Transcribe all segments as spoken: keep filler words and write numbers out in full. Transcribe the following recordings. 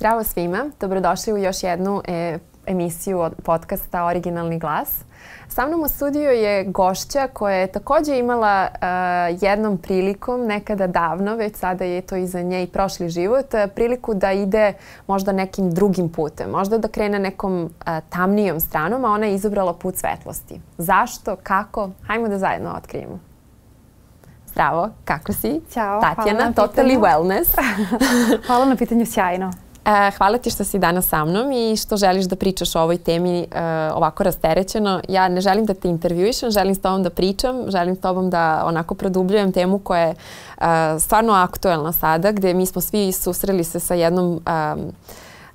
Zdravo svima, dobrodošli u još jednu e, emisiju od podcasta Originalni glas. Sa mnom u studiju je gošća koja je također imala uh, jednom prilikom, nekada davno, već sada je to iza nje i prošli život, uh, priliku da ide možda nekim drugim putem, možda da krene nekom uh, tamnijom stranom, a ona je izabrala put svetlosti. Zašto? Kako? Hajmo da zajedno otkrijemo. Zdravo, kako si? Ćao, Tatjana, Totally Wellness. Hvala na pitanju, sjajno. Hvala ti što si danas sa mnom i što želiš da pričaš o ovoj temi uh, ovako rasterećeno. Ja ne želim da te intervjuišem, želim s tobom da pričam, želim s tobom da onako produbljujem temu koja je uh, stvarno aktuelna sada, gdje mi smo svi susreli se sa jednom um,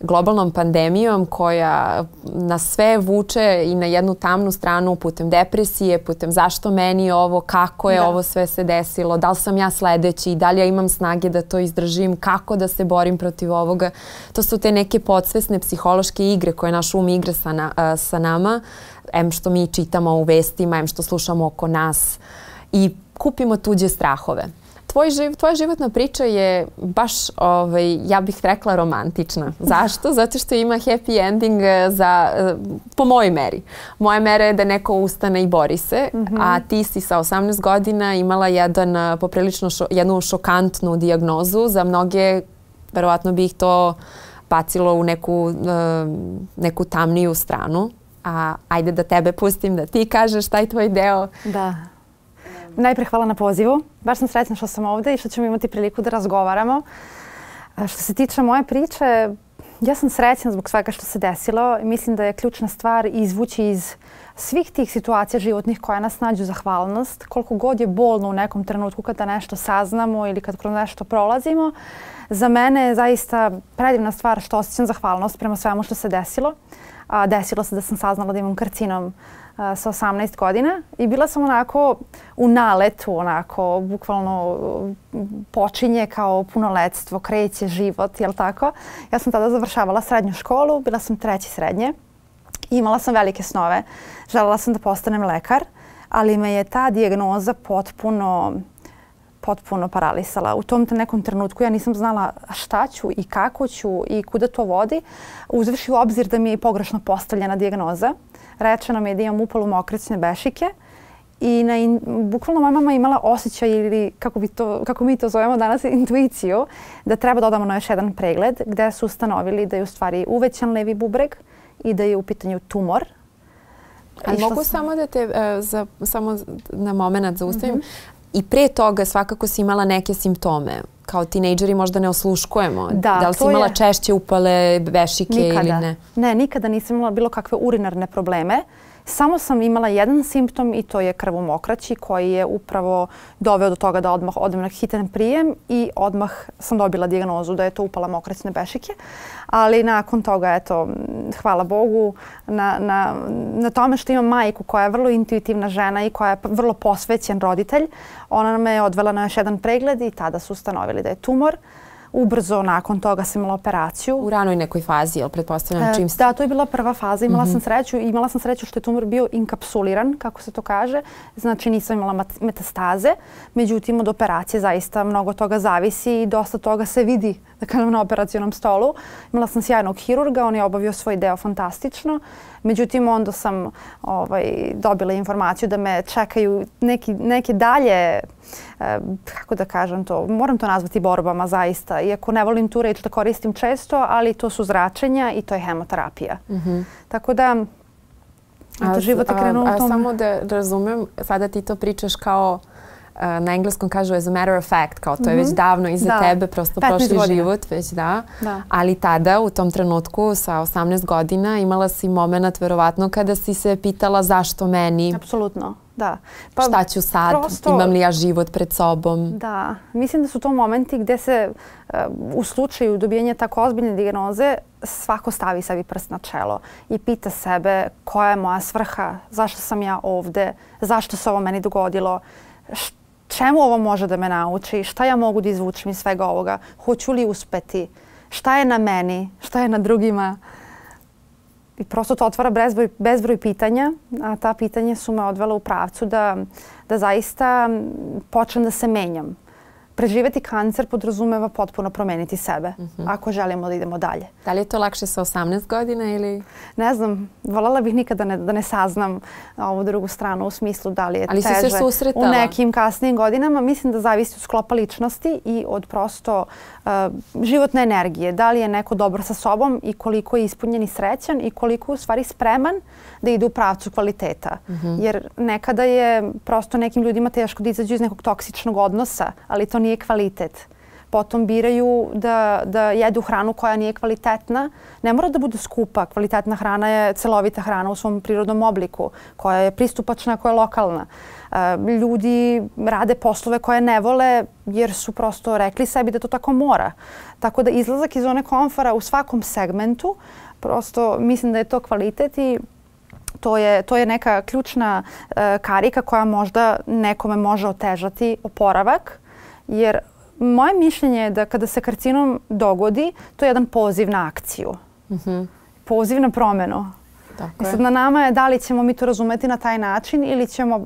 globalnom pandemijom koja nas sve vuče i na jednu tamnu stranu putem depresije, putem zašto meni ovo, kako je da. ovo sve se desilo, da li sam ja sledeći, da li ja imam snage da to izdržim, kako da se borim protiv ovoga. To su te neke podsvesne psihološke igre koje naš um igra sa, na, sa nama, em što mi čitamo u vestima, em što slušamo oko nas i kupimo tuđe strahove. Tvoj živ, tvoja životna priča je baš, ovaj, ja bih rekla, romantična. Zašto? Zato što ima happy ending za, po mojoj meri. Moja mera je da neko ustane i bori se, mm-hmm. a ti si sa osamnaest godina imala jedan, poprilično šo, jednu šokantnu dijagnozu. Za mnoge, verovatno bi ih to bacilo u neku, neku tamniju stranu. A ajde da tebe pustim, da ti kažeš taj tvoj deo. Da. Najpre hvala na pozivu. Baš sam srećna što sam ovdje i što ćemo imati priliku da razgovaramo. Što se tiče moje priče, ja sam srećna zbog svega što se desilo. Mislim da je ključna stvar izvući iz svih tih situacija životnih koja nas nađu zahvalnost. Koliko god je bolno u nekom trenutku kada nešto saznamo ili kad kroz nešto prolazimo, za mene je zaista predivna stvar što osjećam zahvalnost prema svemu što se desilo. A desilo se da sam saznala da imam karcinom sa osamnaest godina i bila sam onako u naletu, onako bukvalno počinje kao punoletstvo, kreće život, jel tako? Ja sam tada završavala srednju školu, bila sam treći srednje i imala sam velike snove. Želela sam da postanem lekar, ali me je ta dijagnoza potpuno potpuno paralisala. U tom nekom trenutku ja nisam znala šta ću i kako ću i kuda to vodi. Uzvrši u obzir da mi je pogrešno postavljena dijagnoza. Rečeno mi je da imam upalu mokraćne bešike i na in, bukvalno moja mama imala osjećaj ili kako, bi to, kako mi to zovemo danas intuiciju da treba da odamo na još jedan pregled gdje su ustanovili da je u stvari uvećan levi bubreg i da je u pitanju tumor. Ali mogu sam... samo da te uh, za, samo na moment zaustavim. Mm-hmm. I pre toga svakako si imala neke simptome. Kao tinejdžeri možda ne osluškujemo. Da, da li si imala je... češće upale bešike nikada. ili ne? Ne, nikada nisam imala bilo kakve urinarne probleme. Samo sam imala jedan simptom i to je krv u mokraći koji je upravo doveo do toga da odmah odem na hitan prijem i odmah sam dobila dijagnozu da je to upala mokraćne bešike. Ali nakon toga, eto, hvala Bogu na, na, na tome što imam majku koja je vrlo intuitivna žena i koja je vrlo posvećen roditelj. Ona me je odvela na još jedan pregled i tada su ustanovili da je tumor. Ubrzo nakon toga sam imala operaciju. U ranoj nekoj fazi, jel pretpostavljam čim ste? Da, to je bila prva faza. Imala mm-hmm. sam sreću. Imala sam sreću što je tumor bio inkapsuliran, kako se to kaže. Znači nisam imala metastaze. Međutim, od operacije zaista mnogo toga zavisi i dosta toga se vidi da kažem, na operacionom stolu. Imala sam sjajnog hirurga, on je obavio svoj deo fantastično. Međutim, onda sam ovaj, dobila informaciju da me čekaju neki, neke dalje, eh, kako da kažem to, moram to nazvati borbama zaista. Iako ne volim tu reč da koristim često, ali to su zračenja i to je hemoterapija. Mm-hmm. Tako da, eto, život je krenuo u tom. Samo da razumem, sada ti to pričaš kao na engleskom kažu as a matter of fact, kao to je već davno iza da. tebe, prosto prošli godina. život, već da. da. Ali tada, u tom trenutku, sa osamnaest godina, imala si moment, verovatno, kada si se pitala zašto meni. Apsolutno, da. Pa, šta ću sad, prosto, imam li ja život pred sobom? Da, mislim da su to momenti gdje se uh, u slučaju dobijenja tako ozbiljne dijagnoze svako stavi sebi prst na čelo i pita sebe koja je moja svrha, zašto sam ja ovde, zašto se ovo meni dogodilo, čemu ovo može da me nauči, šta ja mogu da izvučem iz svega ovoga, hoću li uspeti, šta je na meni, šta je na drugima. I prosto to otvara bezbroj, bezbroj pitanja, a ta pitanja su me odvela u pravcu da, da zaista počnem da se menjam. preživeti kancer podrazumeva potpuno promeniti sebe, uh-huh. ako želimo da idemo dalje. Da li je to lakše sa osamnaest godina ili? Ne znam, voljela bih nikada ne, da ne saznam ovu drugu stranu u smislu da li je ali teže si se susretala u nekim kasnijim godinama. Mislim da zavisi od sklopa ličnosti i od prosto uh, životne energije. Da li je neko dobro sa sobom i koliko je ispunjen i srećan i koliko je u stvari spreman da ide u pravcu kvaliteta. Uh-huh. Jer nekada je prosto nekim ljudima teško da izađu iz nekog toksičnog odnosa, ali to nije kvalitet. Potom biraju da, da jedu hranu koja nije kvalitetna. Ne mora da bude skupa. Kvalitetna hrana je celovita hrana u svom prirodnom obliku, koja je pristupačna, koja je lokalna. Ljudi rade poslove koje ne vole jer su prosto rekli sebi da to tako mora. Tako da izlazak iz zone komfora u svakom segmentu, prosto mislim da je to kvalitet i to je, to je neka ključna uh, karika koja možda nekome može otežati oporavak. Jer moje mišljenje je da kada se karcinom dogodi, to je jedan poziv na akciju. Mm-hmm. Poziv na promenu. I sad na nama je da li ćemo mi to razumeti na taj način ili ćemo, uh,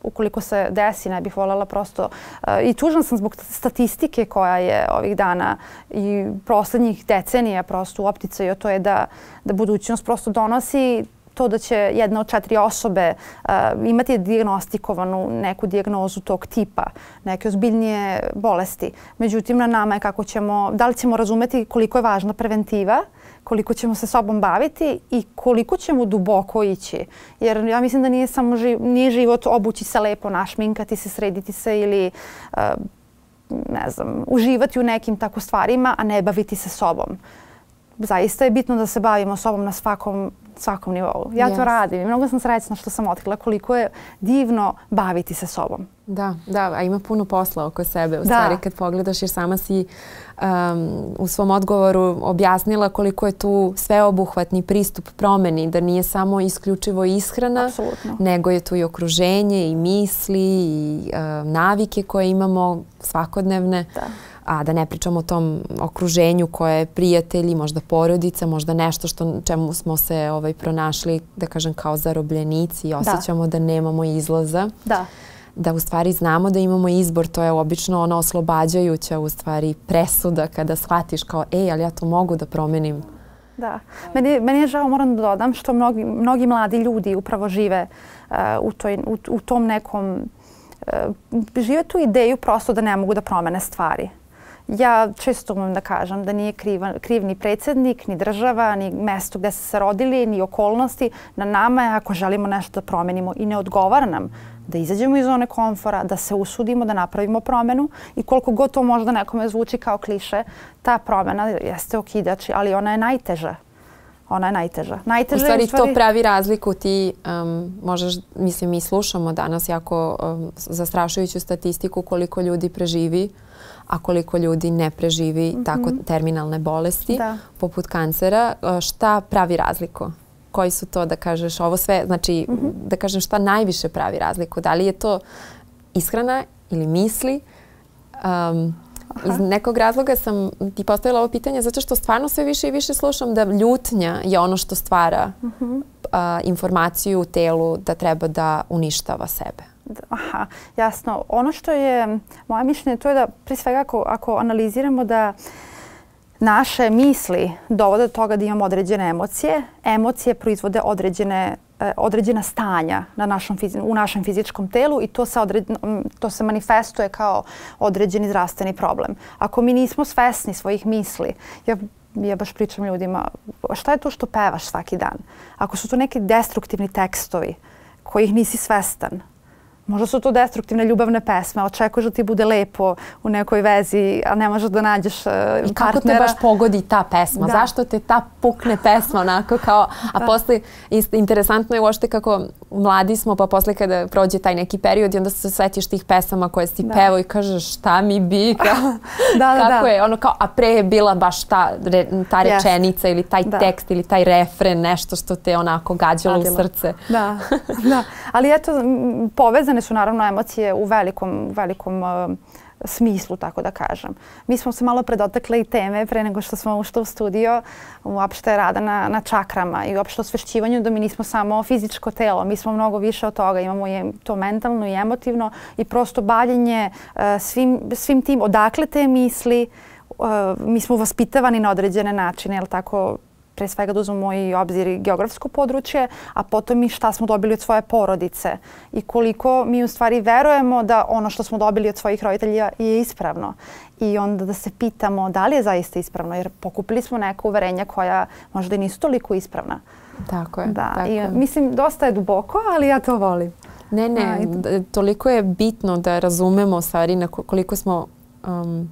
ukoliko se desi, ne bih voljela prosto. Uh, I tužna sam zbog statistike koja je ovih dana i poslednjih decenija prosto u opticaju, to je da, da budućnost prosto donosi to da će jedna od četiri osobe uh, imati dijagnostikovanu neku dijagnozu tog tipa, neke ozbiljnije bolesti. Međutim, na nama je kako ćemo, da li ćemo razumeti koliko je važna preventiva, koliko ćemo se sobom baviti i koliko ćemo duboko ići. Jer ja mislim da nije samo živ, nije život obući se lepo, našminkati se, srediti se ili uh, ne znam, uživati u nekim tako stvarima, a ne baviti se sobom. Zaista je bitno da se bavimo sobom na svakom, svakom nivou. Ja yes. to radim i mnogo sam srećna što sam otkrila koliko je divno baviti se sobom. Da, da, a ima puno posla oko sebe. U da. stvari kad pogledaš jer sama si um, u svom odgovoru objasnila koliko je tu sveobuhvatni pristup promeni, da nije samo isključivo ishrana, Apsolutno. nego je tu i okruženje i misli i uh, navike koje imamo svakodnevne. Da. A da ne pričamo o tom okruženju koje je prijatelji, možda porodica, možda nešto što čemu smo se ovaj, pronašli, da kažem, kao zarobljenici i osjećamo da, da nemamo izlaza. Da. Da u stvari znamo da imamo izbor, to je obično ona oslobađajuća u stvari presuda kada shvatiš kao ej, ali ja to mogu da promenim. Da. Meni, meni je žao, moram da dodam, što mnogi, mnogi mladi ljudi upravo žive uh, u, toj, u, u tom nekom, uh, žive tu ideju prosto da ne mogu da promene stvari. Ja često umem da kažem da nije kriv, kriv ni predsjednik, ni država, ni mesto gde su se rodili, ni okolnosti. Na nama je ako želimo nešto da promenimo i ne odgovara nam da izađemo iz zone komfora, da se usudimo, da napravimo promenu i koliko god to možda nekome zvuči kao kliše, ta promena jeste okidač, ali ona je najteža. Ona je najteža. najteža u, stvari, je, u stvari to pravi razliku. Ti um, možeš, mislim, mi slušamo danas jako um, zastrašujuću statistiku koliko ljudi preživi, a koliko ljudi ne preživi mm-hmm. tako terminalne bolesti, da. poput kancera. Šta pravi razliku? Koji su to, da kažeš, ovo sve, znači, mm-hmm. da kažem šta najviše pravi razliku? Da li je to ishrana ili misli? Um, iz nekog razloga sam ti postavila ovo pitanje zato što stvarno sve više i više slušam da ljutnja je ono što stvara mm-hmm. uh, informaciju u telu da treba da uništava sebe. Aha, jasno. Ono što je moje mišljenje to je da prije svega ako, ako analiziramo da naše misli dovode do toga da imamo određene emocije, emocije proizvode određene, određena stanja na našom, u našem fizičkom telu i to se, odred, to se manifestuje kao određeni zdravstveni problem. Ako mi nismo svesni svojih misli, ja ja baš pričam ljudima, šta je to što pevaš svaki dan? Ako su to neki destruktivni tekstovi kojih nisi svestan, možda su to destruktivne ljubavne pesme, očekuješ da ti bude lepo u nekoj vezi, a ne možeš da nađeš partnera. I kako te baš pogodi ta pesma? Da. Zašto te ta pukne pesma onako kao... A da. posle, interesantno je uopšte kako mladi smo, pa posle kada prođe taj neki period i onda se setiš tih pesama koje si da. pevao i kažeš šta mi bi, kao, da, da, kako da. je, ono kao, a pre je bila baš ta, ta rečenica yes. ili taj da. tekst ili taj refren, nešto što te onako gađalo u srce. Da, da. Ali eto, povezane su naravno emocije u velikom, velikom uh, smislu, tako da kažem. Mi smo se malo predotakle i teme pre nego što smo ušli u studio, uopšte rada na, na čakrama i uopšte osvešćivanju da mi nismo samo fizičko telo, mi smo mnogo više od toga, imamo je to mentalno i emotivno i prosto bavljenje uh, svim, svim tim, odakle te misli, uh, mi smo vaspitavani na određene načine, jel tako, pre svega da uzmemo i obzir i geografsko područje, a potom i šta smo dobili od svoje porodice i koliko mi u stvari verujemo da ono što smo dobili od svojih roditelja je ispravno. I onda da se pitamo da li je zaista ispravno, jer pokupili smo neka uverenja koja možda i nisu toliko ispravna. Tako je. Da, tako i, je. mislim, dosta je duboko, ali ja to volim. Ne, ne, toliko je bitno da razumemo stvari na koliko smo... Um,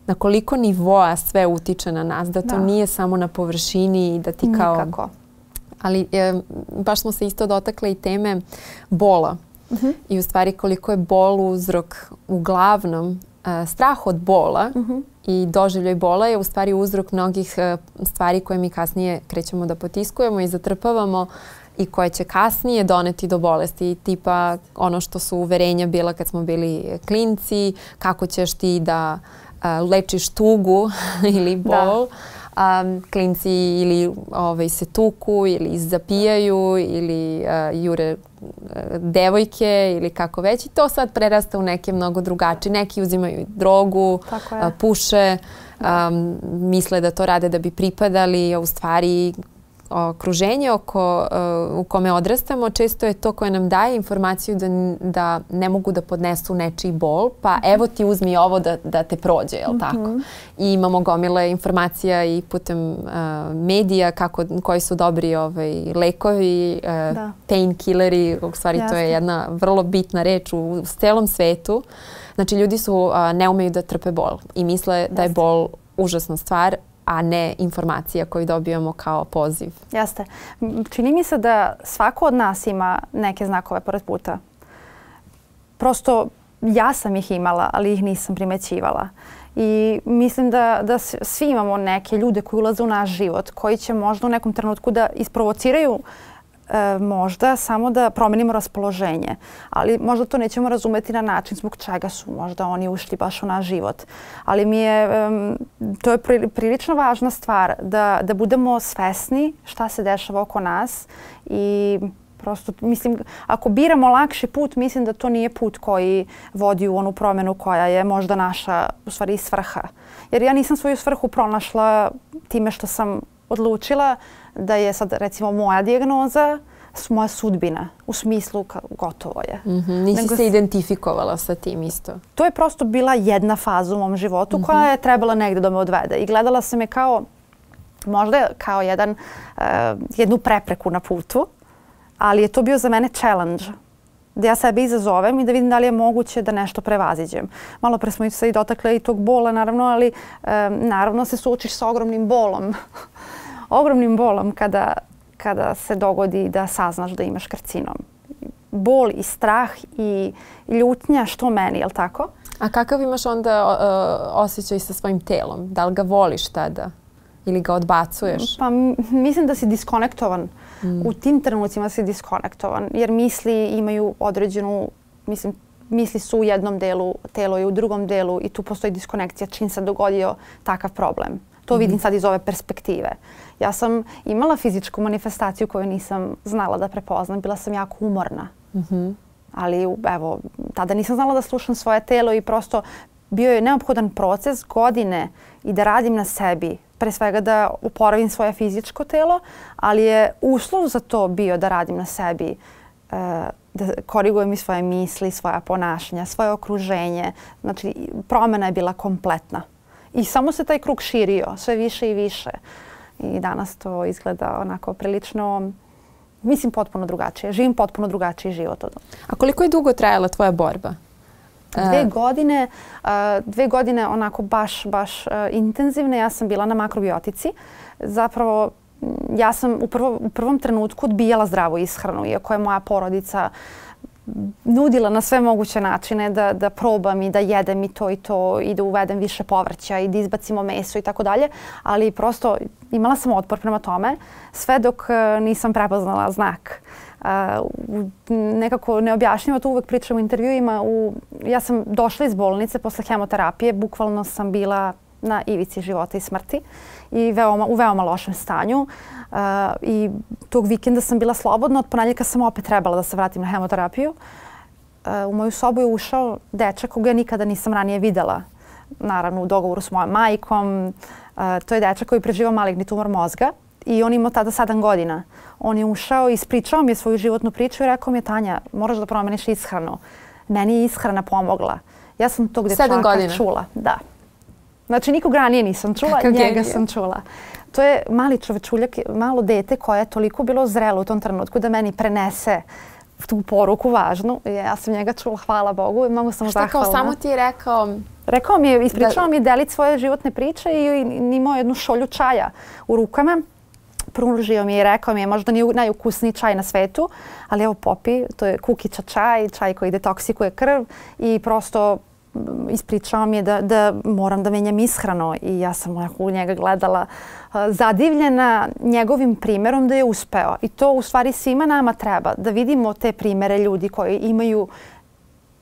na koliko nivoa sve utiče na nas, da to da. nije samo na površini i da ti kao... Nikako. Ali e, baš smo se isto dotakle i teme bola. Uh-huh. I u stvari koliko je bol uzrok uglavnom e, strah od bola uh-huh. i doživljaj bola je u stvari uzrok mnogih e, stvari koje mi kasnije krećemo da potiskujemo i zatrpavamo i koje će kasnije doneti do bolesti. Tipa ono što su uverenja bila kad smo bili klinci, kako ćeš ti da Uh, lečiš tugu ili bol. Um, klinci ili ovaj, se tuku ili zapijaju ili uh, jure uh, devojke ili kako već. I to sad prerasta u neke mnogo drugačije. Neki uzimaju drogu, uh, puše, um, misle da to rade da bi pripadali, a u stvari okruženje oko, uh, u kome odrastamo često je to koje nam daje informaciju da, da ne mogu da podnesu nečiji bol, pa mm-hmm. evo ti uzmi ovo da, da te prođe, jel mm-hmm. tako? I imamo gomile informacija i putem uh, medija kako, koji su dobri ovaj, lekovi, uh, painkilleri, u stvari Jasne. To je jedna vrlo bitna reč u, u celom svetu. Znači ljudi su, uh, ne umeju da trpe bol i misle Jasne. Da je bol užasna stvar, a ne informacija koju dobijamo kao poziv. Jeste. Čini mi se da svako od nas ima neke znakove pored puta. Prosto ja sam ih imala, ali ih nisam primećivala. I mislim da, da svi imamo neke ljude koji ulaze u naš život, koji će možda u nekom trenutku da isprovociraju E, možda samo da promenimo raspoloženje. Ali možda to nećemo razumeti na način zbog čega su možda oni ušli baš u naš život. Ali mi je, um, to je pri, prilično važna stvar da, da budemo svesni šta se dešava oko nas i prosto, mislim, ako biramo lakši put, mislim da to nije put koji vodi u onu promjenu koja je možda naša, u stvari, svrha. Jer ja nisam svoju svrhu pronašla time što sam odlučila da je sad recimo moja dijagnoza moja sudbina u smislu gotovo je. Mm-hmm. Nisi Nego, se identifikovala sa tim isto? To je prosto bila jedna faza u mom životu mm-hmm. koja je trebala negdje da me odvede i gledala sam je kao možda kao jedan, uh, jednu prepreku na putu, ali je to bio za mene challenge. Da ja sebe izazovem i da vidim da li je moguće da nešto prevaziđem. Malo pre smo se i dotakle i tog bola, naravno, ali um, naravno se suočiš sa ogromnim bolom. ogromnim bolom kada, kada se dogodi da saznaš da imaš karcinom. Bol i strah i ljutnja što meni, je li tako? A kakav imaš onda uh, osjećaj sa svojim telom? Da li ga voliš tada? Ili ga odbacuješ? Pa mislim da si diskonektovan. Mm. U tim trenucima si diskonektovan. Jer misli imaju određenu, mislim, misli su u jednom delu, telo je u drugom delu i tu postoji diskonekcija čim se dogodio takav problem. To mm-hmm. vidim sad iz ove perspektive. Ja sam imala fizičku manifestaciju koju nisam znala da prepoznam. Bila sam jako umorna. Mm-hmm. Ali evo, tada nisam znala da slušam svoje telo i prosto bio je neophodan proces godine i da radim na sebi. Pre svega da oporavim svoje fizičko telo, ali je uslov za to bio da radim na sebi, da korigujem i svoje misli, svoja ponašanja, svoje okruženje. Znači, promjena je bila kompletna. I samo se taj krug širio, sve više i više. I danas to izgleda onako prilično, mislim, potpuno drugačije. Živim potpuno drugačiji život od. A koliko je dugo trajala tvoja borba? Dve godine, dve godine onako baš, baš intenzivne. Ja sam bila na makrobiotici. Zapravo, ja sam u, prvo, u prvom trenutku odbijala zdravu ishranu, iako je moja porodica nudila na sve moguće načine da, da probam i da jedem i to i to i da uvedem više povrća i da izbacimo meso i tako dalje. Ali prosto imala sam otpor prema tome sve dok nisam prepoznala znak. Uh, nekako neobjašnjivo to uvek pričam u intervjuima. U, ja sam došla iz bolnice posle hemoterapije, bukvalno sam bila na ivici života i smrti i veoma, u veoma lošem stanju. Uh, I tog vikenda sam bila slobodna, od ponedjeljka sam opet trebala da se vratim na hemoterapiju. Uh, u moju sobu je ušao dečak koga ja nikada nisam ranije videla. Naravno u dogovoru s mojom majkom. Uh, to je dečak koji preživao maligni tumor mozga i on imao tada sedam godina. On je ušao i ispričao mi je svoju životnu priču i rekao mi je: Tanja, moraš da promeniš ishranu. Meni je ishrana pomogla. Ja sam tog dečaka čula. Da. Znači nikog ranije nisam čula, Kakav njega genije. sam čula. To je mali čovečuljak, malo dete koje je toliko bilo zrelo u tom trenutku da meni prenese tu poruku važnu. Ja sam njega čula, hvala Bogu, i mnogo sam mu zahvalna. Šta kao samo ti je rekao? Rekao mi je, ispričao mi je delit svoje životne priče i imao jednu šolju čaja u rukama. Pružio mi je i rekao mi je: možda nije najukusniji čaj na svetu, ali evo popi, to je kukića čaj, čaj koji detoksikuje krv i prosto ispričao mi je da, da moram da menjam ishranu i ja sam u njega gledala uh, zadivljena njegovim primjerom da je uspeo. I to u stvari svima nama treba, da vidimo te primjere ljudi koji imaju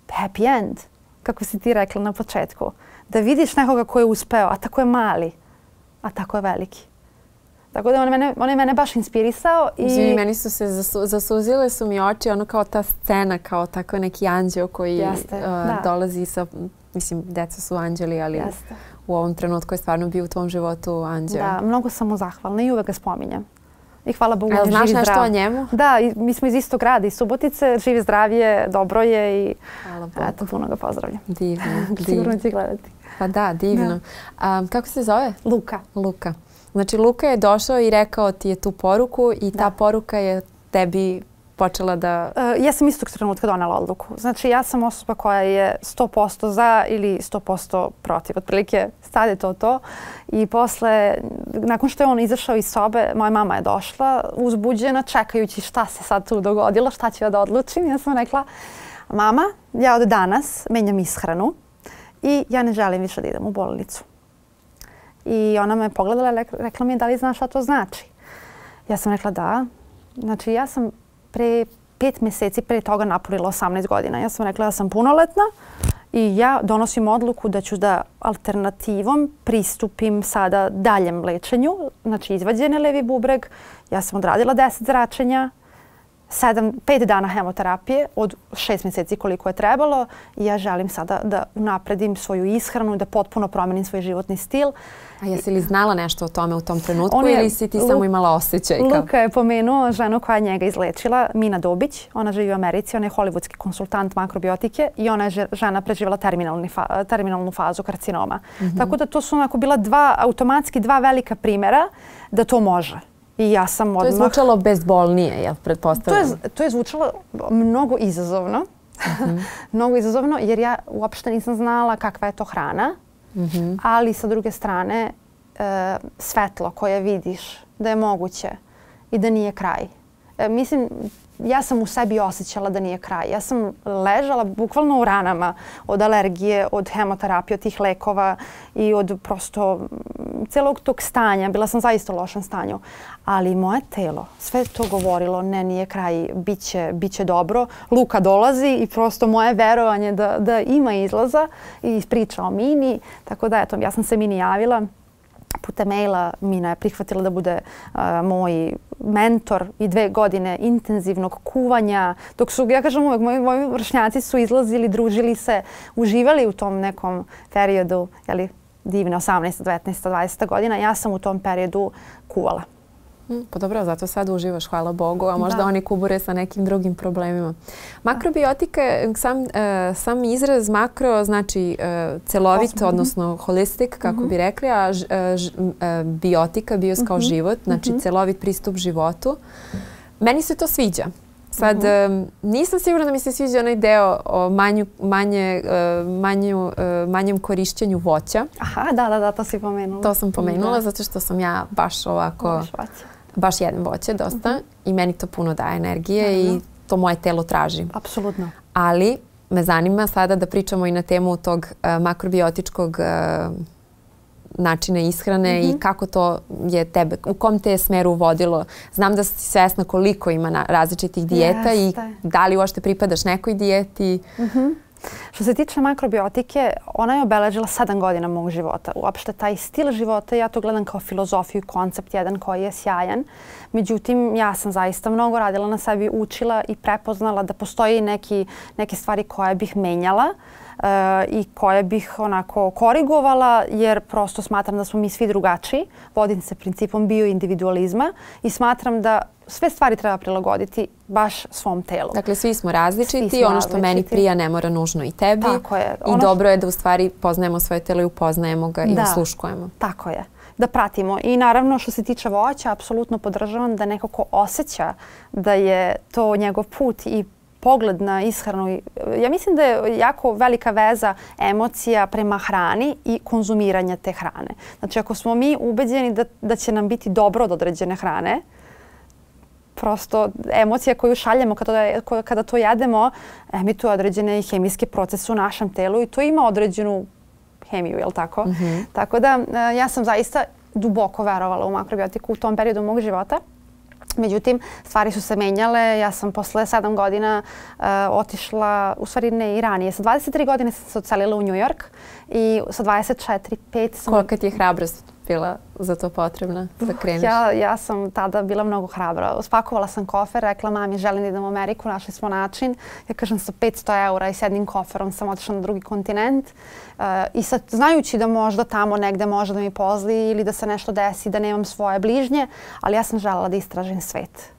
happy end, kako si ti rekla na početku. Da vidiš nekoga koji je uspeo, a tako je mali, a tako je veliki. Tako da on je mene, on je mene baš inspirisao. I Zvi, meni su se zasu, zasuzile su mi oči, ono kao ta scena, kao tako neki anđeo koji Jeste, uh, da. dolazi sa, mislim, deca su anđeli, ali Jeste. u ovom trenutku je stvarno bio u tvom životu anđeo. Da, mnogo sam mu zahvalna i uvek ga spominjem. I hvala Bogu, A on je znaš živ i nešto zdrav. o njemu? Da, i mi smo iz istog grada, iz Subotice, živi zdrav je, dobro je i Hvala Bogu. eto, puno ga pozdravljam. Divno, Sigurno divno. će gledati. Pa da, divno. A, kako se zove? Luka. Luka. Znači Luka je došao i rekao ti je tu poruku i ta Da. poruka je tebi počela da... Uh, ja sam istog trenutka donela odluku. Znači ja sam osoba koja je sto posto za ili sto posto protiv. Otprilike sad je to to. I posle, nakon što je on izašao iz sobe, moja mama je došla uzbuđena, čekajući šta se sad tu dogodilo, šta ću ja da odlučim. Ja sam rekla: mama, ja od danas menjam ishranu i ja ne želim više da idem u bolnicu. I ona me pogledala i rekla mi je: da li znaš šta to znači? Ja sam rekla da. Znači ja sam pre pet mjeseci pre toga napunila osamnaest godina. Ja sam rekla da sam punoletna i ja donosim odluku da ću da alternativom pristupim sada daljem lečenju. Znači izvađen je levi bubreg. Ja sam odradila deset zračenja, sedam, pet dana hemoterapije od šest mjeseci koliko je trebalo i ja želim sada da unapredim svoju ishranu, da potpuno promenim svoj životni stil. A jesi li znala nešto o tome u tom trenutku On je- ili si ti samo imala osjećaj? Kao? Luka je pomenuo ženu koja je njega izlečila, Mina Dobić. Ona živi u Americi, ona je hollywoodski konsultant makrobiotike i ona je že- žena preživjela terminalni fa- terminalnu fazu karcinoma. Tako da to su onako bila dva, automatski dva velika primjera da to može. I ja sam To je odmah... zvučalo bezbolnije, jel To pretpostavljam? je, to je zvučalo mnogo izazovno. mnogo izazovno jer ja uopšte nisam znala kakva je to hrana. Ali sa druge strane e, svetlo koje vidiš da je moguće i da nije kraj. E, mislim, ja sam u sebi osjećala da nije kraj. Ja sam ležala bukvalno u ranama od alergije, od hemoterapije, od tih lekova i od prosto mm, celog tog stanja. Bila sam zaista u lošem stanju. Ali moje telo, sve to govorilo: ne, nije kraj, bit će, bit će dobro. Luka dolazi i prosto moje verovanje da, da ima izlaza i ispriča o Mini. Tako da, eto, ja sam se Mini javila. Putem maila Mina je prihvatila da bude uh, moj mentor i dve godine intenzivnog kuvanja. Dok su, ja kažem uvek, moji, moji vršnjaci su izlazili, družili se, uživali u tom nekom periodu, jeli, divne osamnaesta, devetnaesta, dvadeseta godina. Ja sam u tom periodu kuvala. Mm, pa dobro, zato sad uživaš, hvala Bogu, a možda Da. oni kubure sa nekim drugim problemima. Makrobiotika, sam, uh, sam izraz makro znači uh, celovit, Osmo. odnosno holistic, kako bi rekli, a ž, uh, ž, uh, biotika, bios kao život, znači celovit pristup životu. Meni se to sviđa. Sad, um, nisam sigurna da mi se sviđa onaj deo o manju, manje, uh, manju, uh, manjem korišćenju voća. Aha, da, da, da, to si pomenula. To sam pomenula Da. zato što sam ja baš ovako... Voliš voće. Baš jedem voće dosta i meni to puno daje energije i to moje telo traži. Apsolutno. Ali me zanima sada da pričamo i na temu tog uh, makrobiotičkog uh, načina ishrane Mm-hmm. i kako to je tebe, u kom te je smeru vodilo? Znam da si svesna koliko ima na različitih dijeta Jeste. i da li uopšte pripadaš nekoj dijeti. Mm-hmm. Što se tiče makrobiotike, ona je obeležila sedam godina mog života. Uopšte taj stil života, ja to gledam kao filozofiju, koncept jedan koji je sjajan. Međutim, ja sam zaista mnogo radila na sebi, učila i prepoznala da postoji neki, neke stvari koje bih menjala uh, i koje bih onako korigovala, jer prosto smatram da smo mi svi drugačiji. Vodim se principom bioindividualizma i smatram da sve stvari treba prilagoditi baš svom telu. Dakle, svi smo različiti. Svi smo ono što različiti. meni prija ne mora nužno i tebi. Tako je. I Ono dobro je da u stvari poznajemo svoje telo i upoznajemo ga i Da. osluškujemo. Tako je. Da pratimo. I naravno što se tiče voća, apsolutno podržavam da neko ko osjeća da je to njegov put i pogled na ishranu. Ja mislim da je jako velika veza emocija prema hrani i konzumiranja te hrane. Znači ako smo mi ubeđeni da, da će nam biti dobro od određene hrane, prosto emocija koju šaljemo kada, kada to jedemo emituje određene hemijske procese u našem telu i to ima određenu hemiju, jel tako? Mm-hmm. Tako da ja sam zaista duboko verovala u makrobiotiku u tom periodu mog života. Međutim, stvari su se menjale. Ja sam posle sedam godina uh, otišla, u stvari ne i ranije. Sa dvadeset tri godine sam se odselila u New York i sa dvadeset četiri, pet sam... Kolika ti je hrabrost bila za to potrebna da kreneš? Ja, ja sam tada bila mnogo hrabra. Spakovala sam kofer, rekla mami želim da idem u Ameriku, našli smo način. Ja kažem sa petsto eura i s jednim koferom sam otišla na drugi kontinent. Uh, I sad znajući da možda tamo negde može da mi pozli ili da se nešto desi, da nemam svoje bližnje, ali ja sam želela da istražim svet.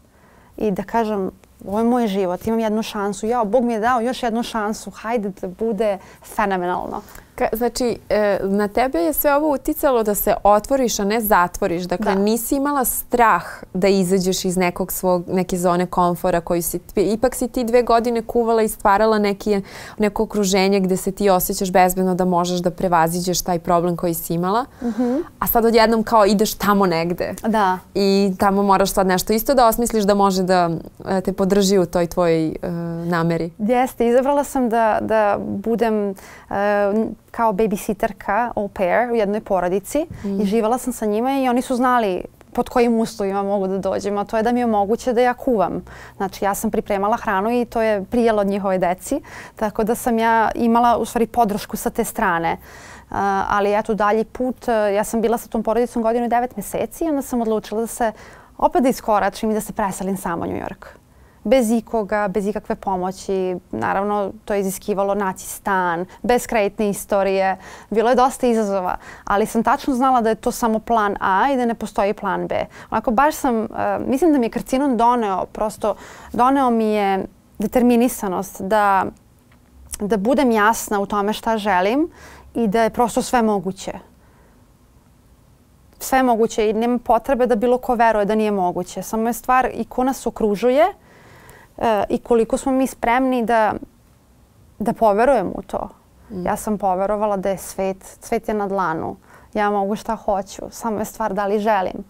I da kažem, ovo je moj život, imam jednu šansu. Jao, Bog mi je dao još jednu šansu, hajde da bude fenomenalno. Ka, znači, e, na tebe je sve ovo uticalo da se otvoriš, a ne zatvoriš. Dakle, Da. nisi imala strah da izađeš iz nekog svog, neke zone komfora koju si... Ipak si ti dve godine kuvala i stvarala neki, neko okruženje gde se ti osjećaš bezbedno da možeš da prevaziđeš taj problem koji si imala. Mm-hmm. A sad odjednom kao ideš tamo negde. Da. I tamo moraš sad nešto isto da osmisliš da može da e, te podrži u toj tvojoj e, nameri. Jeste, izabrala sam da, da budem uh, kao babysitterka, au pair u jednoj porodici mm. i živala sam sa njima i oni su znali pod kojim uslovima mogu da dođem, a to je da mi je moguće da ja kuvam. Znači ja sam pripremala hranu i to je prijelo od njihove deci, tako da sam ja imala u stvari podršku sa te strane. Uh, ali eto dalji put, uh, ja sam bila sa tom porodicom godinu i devet meseci i onda sam odlučila da se opet da iskoračim i da se preselim sama u New York. Bez ikoga, bez ikakve pomoći. Naravno, to je iziskivalo naći stan, bez kreditne istorije. Bilo je dosta izazova, ali sam tačno znala da je to samo plan A i da ne postoji plan B. Onako, baš sam, uh, mislim da mi je karcinom doneo, prosto doneo mi je determinisanost da, da budem jasna u tome šta želim i da je prosto sve moguće. Sve moguće i nema potrebe da bilo ko veruje da nije moguće. Samo je stvar i ko nas okružuje e, i koliko smo mi spremni da, da poverujemo u to. Mm. Ja sam poverovala da je svet, svet je na dlanu. Ja mogu šta hoću. Samo je stvar da li želim.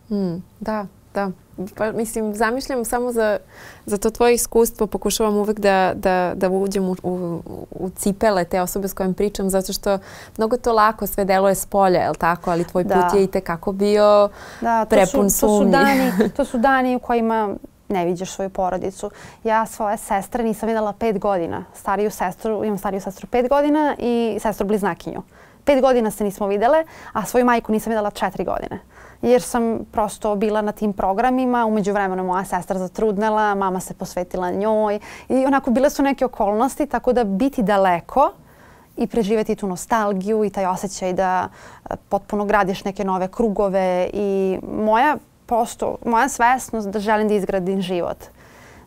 Mm, da, da. Pa, mislim, zamišljam samo za, za to tvoje iskustvo, pokušavam uvek da, da, da uđem u, u, u cipele te osobe s kojim pričam, zato što mnogo to lako sve deluje s polja, je li tako? Ali tvoj da. put je i tekako bio da, to prepun su, to sumnji. Su dani, to su dani u kojima ne vidiš svoju porodicu. Ja svoje sestre nisam videla pet godina. Stariju sestru, imam stariju sestru pet godina i sestru bliznakinju. Pet godina se nismo videle, a svoju majku nisam videla četiri godine. Jer sam prosto bila na tim programima, umeđu vremenu moja sestra zatrudnela, mama se posvetila njoj i onako bile su neke okolnosti, tako da biti daleko i preživjeti tu nostalgiju i taj osjećaj da potpuno gradiš neke nove krugove i moja prosto, moja svesnost da želim da izgradim život.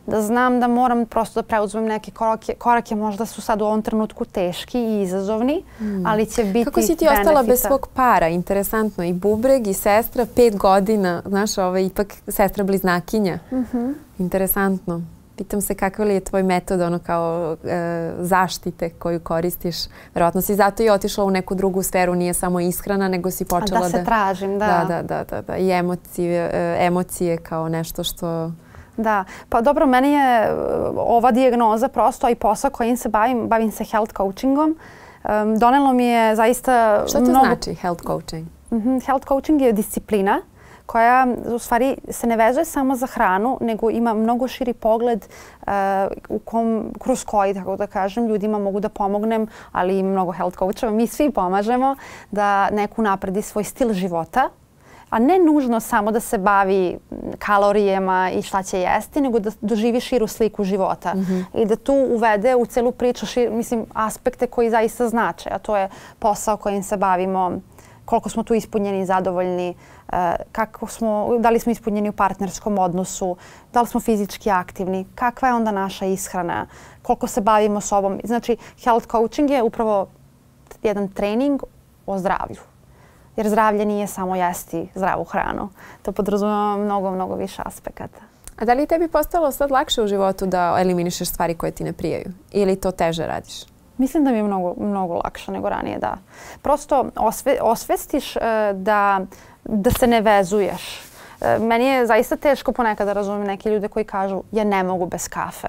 Da znam da moram prosto da preuzmem neke korake, korake možda su sad u ovom trenutku teški i izazovni, mm. ali će biti Kako si ti benefita. ostala bez svog para? Interesantno. I bubreg i sestra, pet godina, znaš, ovo je ipak sestra bliznakinja. Mm-hmm. Interesantno. Pitam se kakav li je tvoj metod ono kao e, zaštite koju koristiš. Verovatno si zato i otišla u neku drugu sferu, nije samo ishrana, nego si počela da... Da se tražim, da. Da, da, da, da, da. I emocije, e, emocije kao nešto što... Da, pa dobro, meni je ova dijagnoza prosto i posao kojim se bavim, bavim se health coachingom. Um, donelo mi je zaista Šta to mnogo... znači health coaching? Mm-hmm. Health coaching je disciplina koja u stvari se ne vezuje samo za hranu, nego ima mnogo širi pogled uh, u kom, kroz koji, tako da kažem, ljudima mogu da pomognem, ali i mnogo health coachova. Mi svi pomažemo da neko napredi svoj stil života, a ne nužno samo da se bavi kalorijama i šta će jesti, nego da doživi širu sliku života. Mm-hmm. I da tu uvede u celu priču šir, mislim, aspekte koji zaista znače, a to je posao kojim se bavimo, koliko smo tu ispunjeni i zadovoljni, kako smo, da li smo ispunjeni u partnerskom odnosu, da li smo fizički aktivni, kakva je onda naša ishrana, koliko se bavimo sobom. Znači, health coaching je upravo jedan trening o zdravlju. Jer zdravlje nije samo jesti zdravu hranu. To podrazumeva mnogo, mnogo više aspekata. A da li tebi postalo sad lakše u životu da eliminišeš stvari koje ti ne prijaju? Ili to teže radiš? Mislim da mi je mnogo, mnogo lakše nego ranije, da. Prosto osve, osvestiš uh, da, da se ne vezuješ. Uh, meni je zaista teško ponekad da razumijem neke ljude koji kažu ja ne mogu bez kafe.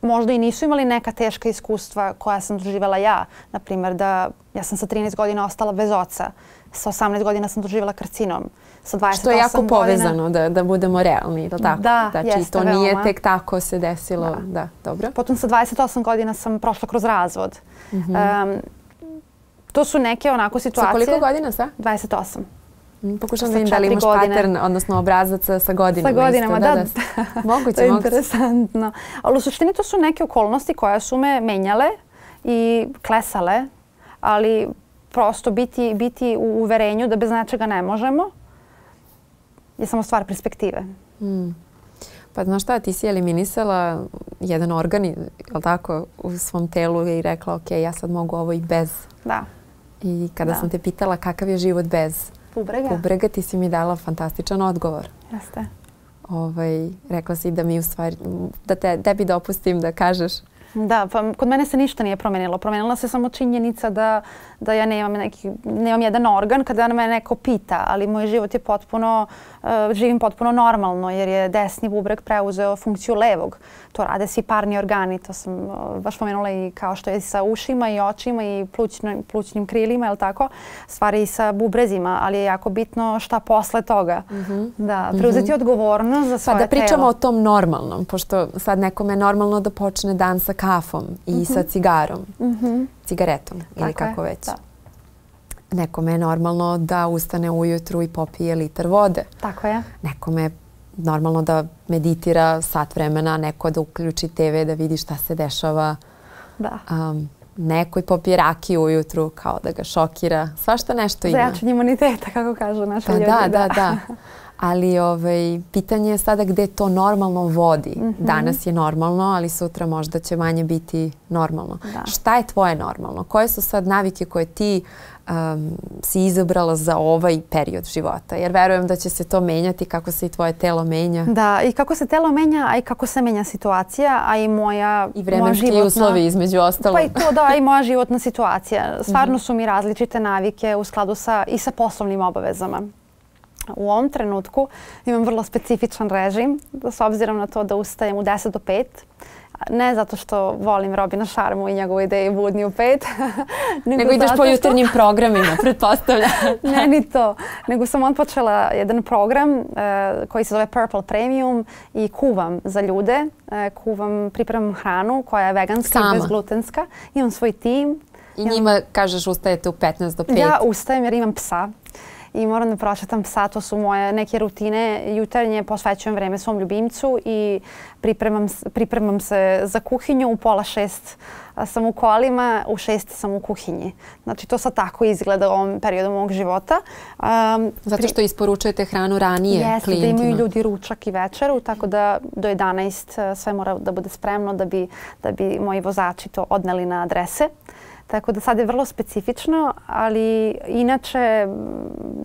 Možda i nisu imali neka teška iskustva koja sam doživjela ja. Naprimjer, da ja sam sa trinaest godina ostala bez oca. Sa osamnaest godina sam doživjela karcinom. Sa dvadeset osam Što je jako godina... povezano, da, da budemo realni, je li tako? Da, znači, jeste, to nije veoma. tek tako se desilo. Da. Da, dobro. Potom sa dvadeset osam godina sam prošla kroz razvod. Mm-hmm. um, to su neke onako situacije... Sa koliko godina sa? dvadeset osam. Pokušam da vidim da li imaš pattern, odnosno obrazac sa godinama. Sa godinama, isto. da. da, da. Moguće, to je moguće. interesantno. Ali u suštini to su neke okolnosti koje su me menjale i klesale, ali prosto biti, biti u uverenju da bez nečega ne možemo je samo stvar perspektive. Hmm. Pa znaš šta, ti si eliminisala jedan organ, je li tako, u svom telu i rekla ok, ja sad mogu ovo i bez. Da. I kada da. sam te pitala kakav je život bez bubrega, bubrega ti si mi dala fantastičan odgovor. Jeste. Ovaj, rekla si da mi u stvari, da te, tebi dopustim da kažeš. Da, pa kod mene se ništa nije promenilo. Promenila se samo činjenica da, da ja nemam, neki, nemam jedan organ kada me neko pita, ali moj život je potpuno, uh, živim potpuno normalno jer je desni bubreg preuzeo funkciju levog. To rade svi parni organi, to sam uh, baš pomenula i kao što je sa ušima i očima i plućnim, plućnim krilima, je li tako? Stvari i sa bubrezima, ali je jako bitno šta posle toga. Mm-hmm. Da, preuzeti mm-hmm. odgovornost za svoje telo. Pa da pričamo telo. o tom normalnom, pošto sad nekome je normalno da počne dan sa kafom i mm-hmm. sa cigarom, mm-hmm. cigaretom ili tako kako je, već. Da. Nekome je normalno da ustane ujutru i popije liter vode. Tako je. Nekome je normalno da meditira sat vremena, neko da uključi te ve da vidi šta se dešava. Da. Um, neko i popije rakiju ujutru kao da ga šokira. Svašta nešto ima. Za jačanje imuniteta, kako kažu naši pa ljudi. Da, da, da. Ali ovaj, pitanje je sada gde to normalno vodi. Mm-hmm. Danas je normalno, ali sutra možda će manje biti normalno. Da. Šta je tvoje normalno? Koje su sad navike koje ti um, si izabrala za ovaj period života? Jer verujem da će se to menjati kako se i tvoje telo menja. Da, i kako se telo menja, a i kako se menja situacija, a i moja I vremenski životna... uslovi između ostalo. Pa i to da, i moja životna situacija. Stvarno mm-hmm. su mi različite navike u skladu sa, i sa poslovnim obavezama. U ovom trenutku imam vrlo specifičan režim, s obzirom na to da ustajem u deset do pet. Ne zato što volim Robina Šarmu i njegovu ideju budni u pet. nego, nego ideš po jutarnjim što... programima, pretpostavljam. Ne, ni to. Nego sam otpočela jedan program uh, koji se zove Purple Premium i kuvam za ljude. Uh, kuvam, pripremam hranu koja je veganska Sama. I bezglutenska. Imam svoj tim. I imam... njima, kažeš, ustajete u petnaest do pet. Ja ustajem jer imam psa. I moram da prošetam psa, to su moje neke rutine. Jutarnje posvećujem vreme svom ljubimcu i pripremam, pripremam se za kuhinju. U pola šest sam u kolima, u šest sam u kuhinji. Znači to sad tako izgleda u ovom periodu mog života. Um, Zato što isporučujete hranu ranije jeste, klijentima. Da imaju ljudi ručak i večeru, tako da do jedanaest sve mora da bude spremno da bi, da bi moji vozači to odneli na adrese. Tako da sad je vrlo specifično, ali inače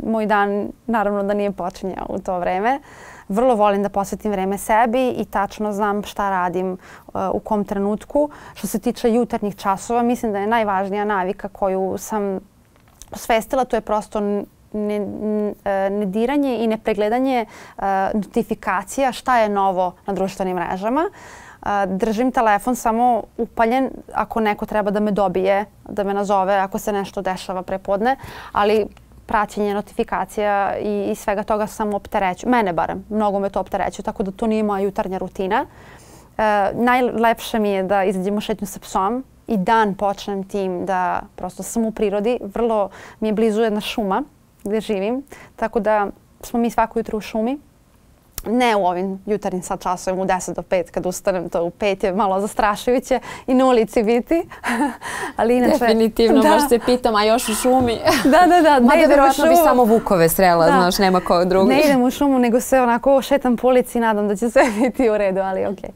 moj dan naravno da nije počinjao u to vreme. Vrlo volim da posvetim vreme sebi i tačno znam šta radim uh, u kom trenutku. Što se tiče jutarnjih časova, mislim da je najvažnija navika koju sam osvestila, to je prosto ne, ne diranje i nepregledanje uh, notifikacija šta je novo na društvenim mrežama. Držim telefon samo upaljen ako neko treba da me dobije, da me nazove ako se nešto dešava prepodne, ali praćenje notifikacija i, i svega toga samo opterećuje. Mene barem, mnogo me to opterećuje, tako da to nije moja jutarnja rutina. E, najlepše mi je da izađem u šetnju sa psom i dan počnem tim da prosto sam u prirodi. Vrlo mi je blizu jedna šuma gdje živim, tako da smo mi svako jutro u šumi. Ne u ovim jutarnjim sad časovima u deset do pet kad ustanem, to u pet je malo zastrašujuće i na ulici biti. Ali inače, definitivno, da. baš se pitam, a još u šumi. Da, da, da. Mada vjerojatno bi samo vukove srela, da. Znaš, nema ko drugi. Ne idem u šumu, nego se onako šetam po ulici i nadam da će sve biti u redu, ali okej. Okay.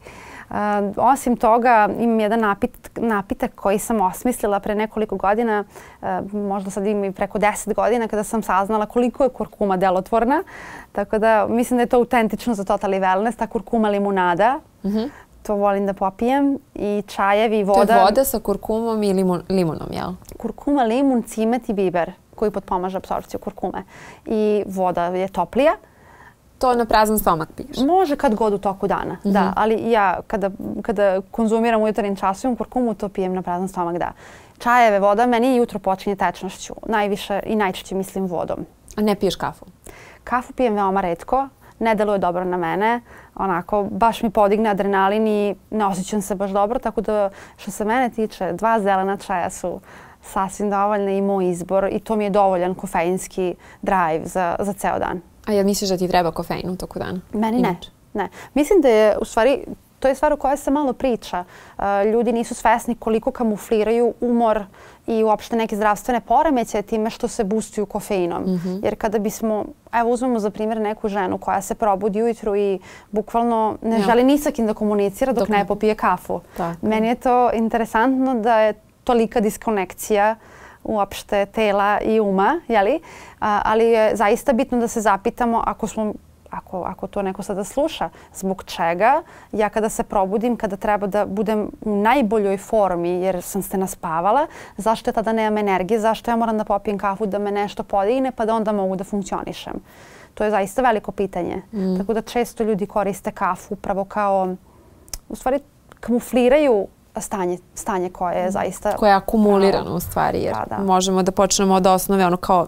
Uh, osim toga, imam jedan napit, napitak koji sam osmislila pre nekoliko godina, uh, možda sad imam i preko deset godina, kada sam saznala koliko je kurkuma delotvorna. Tako da mislim da je to autentično za Totally Wellness, ta kurkuma limunada. Mm-hmm. To volim da popijem i čajevi i voda. To je voda sa kurkumom i limun, limunom, jel? Kurkuma, limun, cimet i biber koji potpomaže apsorpciju kurkume. I voda je toplija. To na prazan stomak piješ? Može kad god u toku dana, mm-hmm. da. Ali ja kada, kada konzumiram u jutarnjim časovima kurkumu, to pijem na prazan stomak, da. Čajeve, voda, meni jutro počinje tečnošću. Najviše i najčešće mislim vodom. A ne piješ kafu? Kafu pijem veoma retko. Ne deluje dobro na mene. Onako, baš mi podigne adrenalin i ne osjećam se baš dobro. Tako da, što se mene tiče, dva zelena čaja su sasvim dovoljne i moj izbor. I to mi je dovoljan kofeinski drive za, za ceo dan. A jel misliš da ti treba kofein u toku dana? Meni ne. ne. Mislim da je, u stvari, to je stvar o kojoj se malo priča. Uh, ljudi nisu svesni koliko kamufliraju umor i uopšte neke zdravstvene poremećaje time što se boostuju kofeinom. Mm-hmm. Jer kada bismo, evo uzmemo za primjer neku ženu koja se probudi ujutru i bukvalno ne ja. želi ni sa kim da komunicira dok, dok ne popije kafu. Tako. Meni je to interesantno da je tolika diskonekcija uopšte tela i uma, jeli? A, ali je zaista bitno da se zapitamo ako smo Ako, ako to neko sada sluša, zbog čega ja kada se probudim, kada treba da budem u najboljoj formi jer sam se naspavala, zašto ja tada nemam energije, zašto ja moram da popijem kafu da me nešto podigne pa da onda mogu da funkcionišem. To je zaista veliko pitanje. Mm. Tako da često ljudi koriste kafu upravo kao, u stvari kamufliraju stanje, stanje koje je zaista... Koje je akumulirano u stvari jer da, da. možemo da počnemo od osnove ono kao...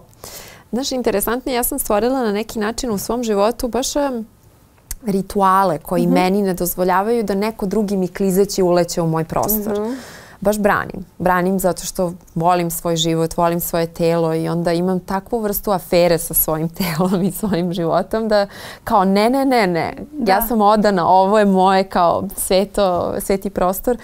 Znaš, interesantno, ja sam stvorila na neki način u svom životu baš um, rituale koji mm-hmm. meni ne dozvoljavaju da neko drugi mi klizeći uleće u moj prostor. Mm-hmm. Baš branim. Branim zato što volim svoj život, volim svoje telo i onda imam takvu vrstu afere sa svojim telom i svojim životom da kao ne, ne, ne, ne. Da. Ja sam odana, ovo je moje kao sveto, sveti prostor.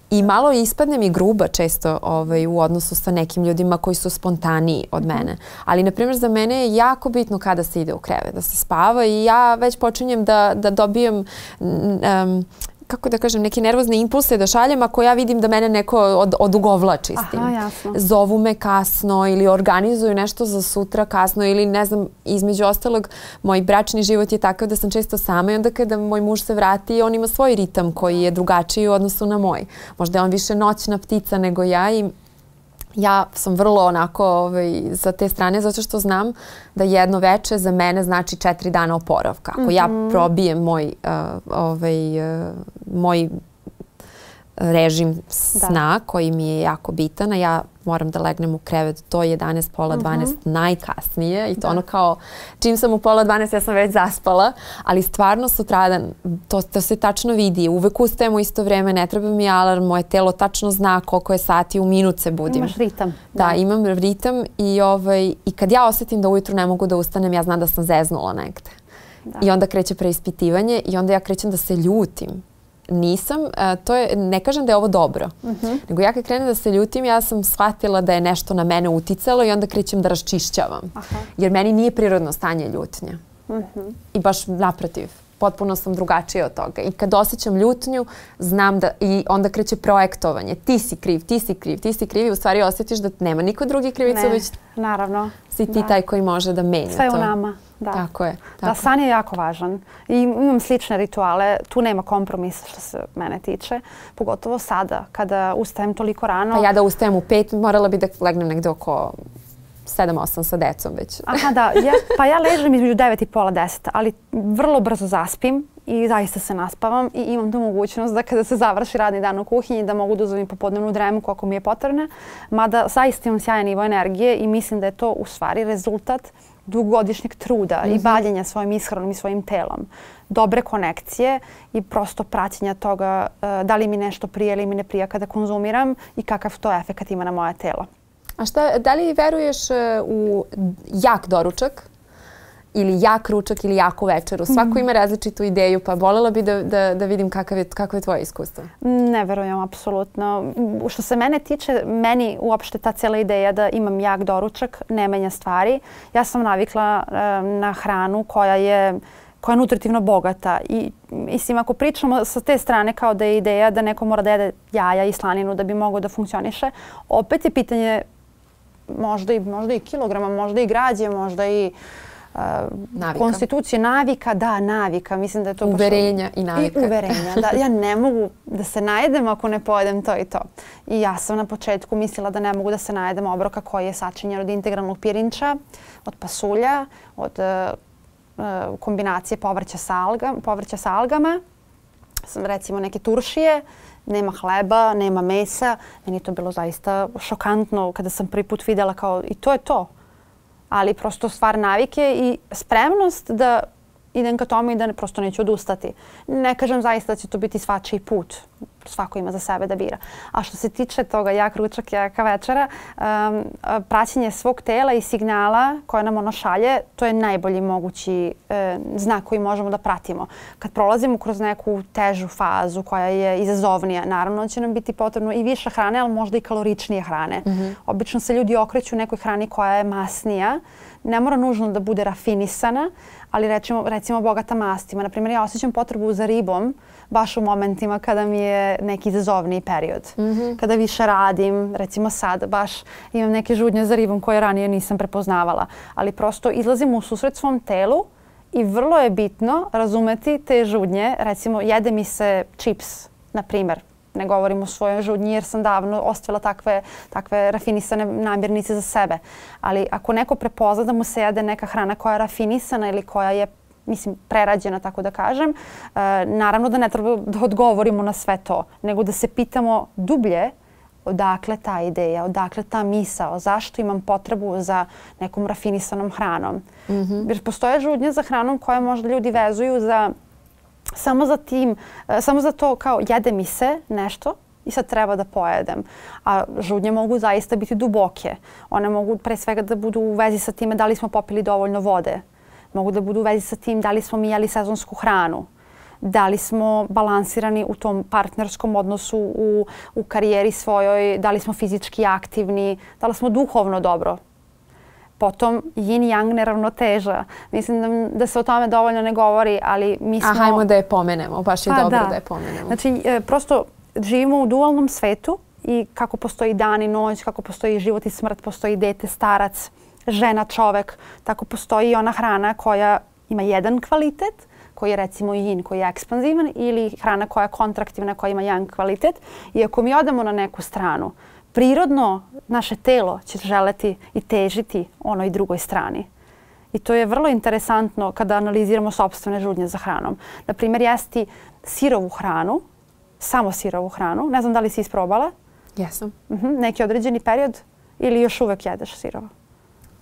I malo ispadne mi gruba često ovaj, u odnosu sa nekim ljudima koji su spontaniji od mene. Ali, na primjer, za mene je jako bitno kada se ide u krevet, da se spava i ja već počinjem da, da dobijem... Um, kako da kažem, neke nervozne impulse da šaljem ako ja vidim da mene neko od, odugovlači s tim. Aha, jasno. Zovu me kasno ili organizuju nešto za sutra kasno ili ne znam, između ostalog, moj bračni život je takav da sam često sama i onda kada moj muž se vrati, on ima svoj ritam koji je drugačiji u odnosu na moj. Možda je on više noćna ptica nego ja i ja sam vrlo onako ovaj, za te strane zato što znam da jedno veče za mene znači četiri dana oporavka. Ako mm-hmm. ja probijem moj, uh, ovaj, uh, moj režim sna da. koji mi je jako bitan, a ja moram da legnem u krevet do jedanaest, pola dvanaest mm-hmm. najkasnije i to da. ono kao čim sam u pola dvanaest ja sam već zaspala, ali stvarno sutradan to, to se tačno vidi. Uvek ustajem u isto vrijeme, ne treba mi alarm, moje telo tačno zna koliko je sati, u minut se budim. Imaš ritam. Da, da imam ritam i, ovaj, i kad ja osjetim da ujutru ne mogu da ustanem, ja znam da sam zeznula negde. Da. I onda kreće preispitivanje i onda ja krećem da se ljutim. Nisam, to je, ne kažem da je ovo dobro, mm-hmm. nego ja kad krenem da se ljutim, ja sam shvatila da je nešto na mene uticalo i onda krećem da raščišćavam. Aha. Jer meni nije prirodno stanje ljutnja. Mm-hmm. I baš naprotiv, potpuno sam drugačija od toga. I kad osjećam ljutnju, znam da i onda kreće projektovanje. Ti si kriv, ti si kriv, ti si kriv i u stvari osjetiš da nema niko drugi krivicu, ne, već naravno. si ti da. taj koji može da menja to. Sve u nama. Da. Tako je. Tako. Da, san je jako važan. I imam slične rituale. Tu nema kompromisa što se mene tiče. Pogotovo sada, kada ustajem toliko rano. Pa ja da ustajem u pet, morala bi da legnem negdje oko sedam osam sa decom već. Aha, da. Ja, pa ja ležem između devet i pola deset, ali vrlo brzo zaspim i zaista se naspavam i imam tu mogućnost da kada se završi radni dan u kuhinji da mogu da uzmem popodnevnu dremku ako mi je potrebna. Mada zaista imam sjajan nivo energije i mislim da je to u stvari rezultat dugogodišnjeg truda mm-hmm. i bavljenja svojim ishranom i svojim telom. Dobre konekcije i prosto praćenja toga uh, da li mi nešto prija ili mi ne prija kada konzumiram i kakav to efekat ima na moje telo. A šta, da li veruješ u jak doručak ili jak ručak ili jaku večeru? Svako mm-hmm. ima različitu ideju, pa voljela bi da, da, da vidim kakav je, kakvo je tvoje iskustvo. Ne verujem, apsolutno. Što se mene tiče, meni uopšte ta cijela ideja da imam jak doručak ne menja stvari. Ja sam navikla uh, na hranu koja je koja je nutritivno bogata i mislim ako pričamo sa te strane kao da je ideja da neko mora da jede jaja i slaninu da bi mogao da funkcioniše, opet je pitanje možda i, možda i kilograma, možda i građe, možda i uh, konstitucije, navika, da, navika. Mislim da je to uverenja i navika. I uverenja, da. Ja ne mogu da se najedem ako ne pojedem to i to. I ja sam na početku mislila da ne mogu da se najedem obroka koji je sačinjen od integralnog pirinča, od pasulja, od uh, kombinacije povrća sa, alga, povrća sa algama, recimo neke turšije, nema hleba, nema mesa. Meni je to bilo zaista šokantno kada sam prvi put vidjela kao i to je to. Ali prosto stvar navike i spremnost da idem ka tome i da ne, prosto neću odustati. Ne kažem zaista da će to biti svačiji put. Svako ima za sebe da bira. A što se tiče toga jak ručak, jaka večera, um, praćenje svog tela i signala koje nam ono šalje, to je najbolji mogući e, znak koji možemo da pratimo. Kad prolazimo kroz neku težu fazu koja je izazovnija, naravno će nam biti potrebno i više hrane, ali možda i kaloričnije hrane. Mm-hmm. Obično se ljudi okreću nekoj hrani koja je masnija. Ne mora nužno da bude rafinisana, ali recimo, recimo bogata mastima. Naprimjer, ja osjećam potrebu za ribom baš u momentima kada mi je neki izazovniji period. Mm-hmm. Kada više radim, recimo sad, baš imam neke žudnje za ribom koje ranije nisam prepoznavala. Ali prosto izlazim u susret svom telu i vrlo je bitno razumeti te žudnje. Recimo, jede mi se čips, na primjer. Ne govorim o svojoj žudnji jer sam davno ostavila takve, takve rafinisane namirnice za sebe. Ali ako neko prepozna da mu se jede neka hrana koja je rafinisana ili koja je mislim, prerađena, tako da kažem, e, naravno da ne treba da odgovorimo na sve to, nego da se pitamo dublje odakle ta ideja, odakle ta misao, zašto imam potrebu za nekom rafinisanom hranom. Mm-hmm. Jer postoje žudnje za hranom koje možda ljudi vezuju za samo za tim, samo za to kao jede mi se nešto i sad treba da pojedem. A žudnje mogu zaista biti duboke. One mogu pre svega da budu u vezi sa time da li smo popili dovoljno vode. Mogu da budu u vezi sa tim da li smo mi jeli sezonsku hranu. Da li smo balansirani u tom partnerskom odnosu, u, u karijeri svojoj, da li smo fizički aktivni, da li smo duhovno dobro. Potom yin-yang neravnoteža. Mislim da, da se o tome dovoljno ne govori, ali mi smo... A hajmo da je pomenemo, baš je pa, dobro da. da je pomenemo. Znači, e, prosto živimo u dualnom svetu i kako postoji dan i noć, kako postoji život i smrt, postoji dete, starac, žena, čovek, tako postoji i ona hrana koja ima jedan kvalitet, koji je recimo yin, koji je ekspanzivan, ili hrana koja je kontraktivna, koja ima yang kvalitet. I ako mi odemo na neku stranu, prirodno naše telo će želeti i težiti onoj drugoj strani. I to je vrlo interesantno kada analiziramo sopstvene žudnje za hranom. Naprimjer, jesti sirovu hranu, samo sirovu hranu. Ne znam da li si isprobala? Jesam. Uh-huh. Neki određeni period ili još uvek jedeš sirovo?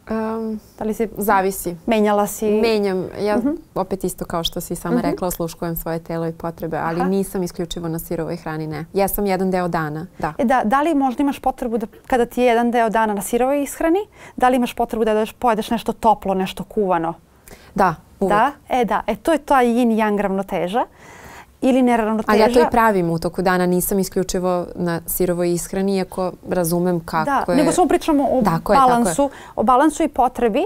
Um, da li si zavisi. Menjala si? Menjam. Ja uh-huh. opet isto kao što si sama uh-huh. rekla, osluškujem svoje telo i potrebe, ali Aha. nisam isključivo na sirovoj hrani, ne. Jesam jedan deo dana, da. E da, da li možda imaš potrebu da kada ti je jedan deo dana na sirovoj ishrani, da li imaš potrebu da pojedeš nešto toplo, nešto kuvano? Da, uvek. Da? E da, e to je ta yin-yang ravnoteža. Ili neravnoteža. Ali ja to i pravim u toku dana, nisam isključivo na sirovoj ishrani, iako razumem kako da, je... Nego samo pričamo o tako balansu, je, o balansu i potrebi,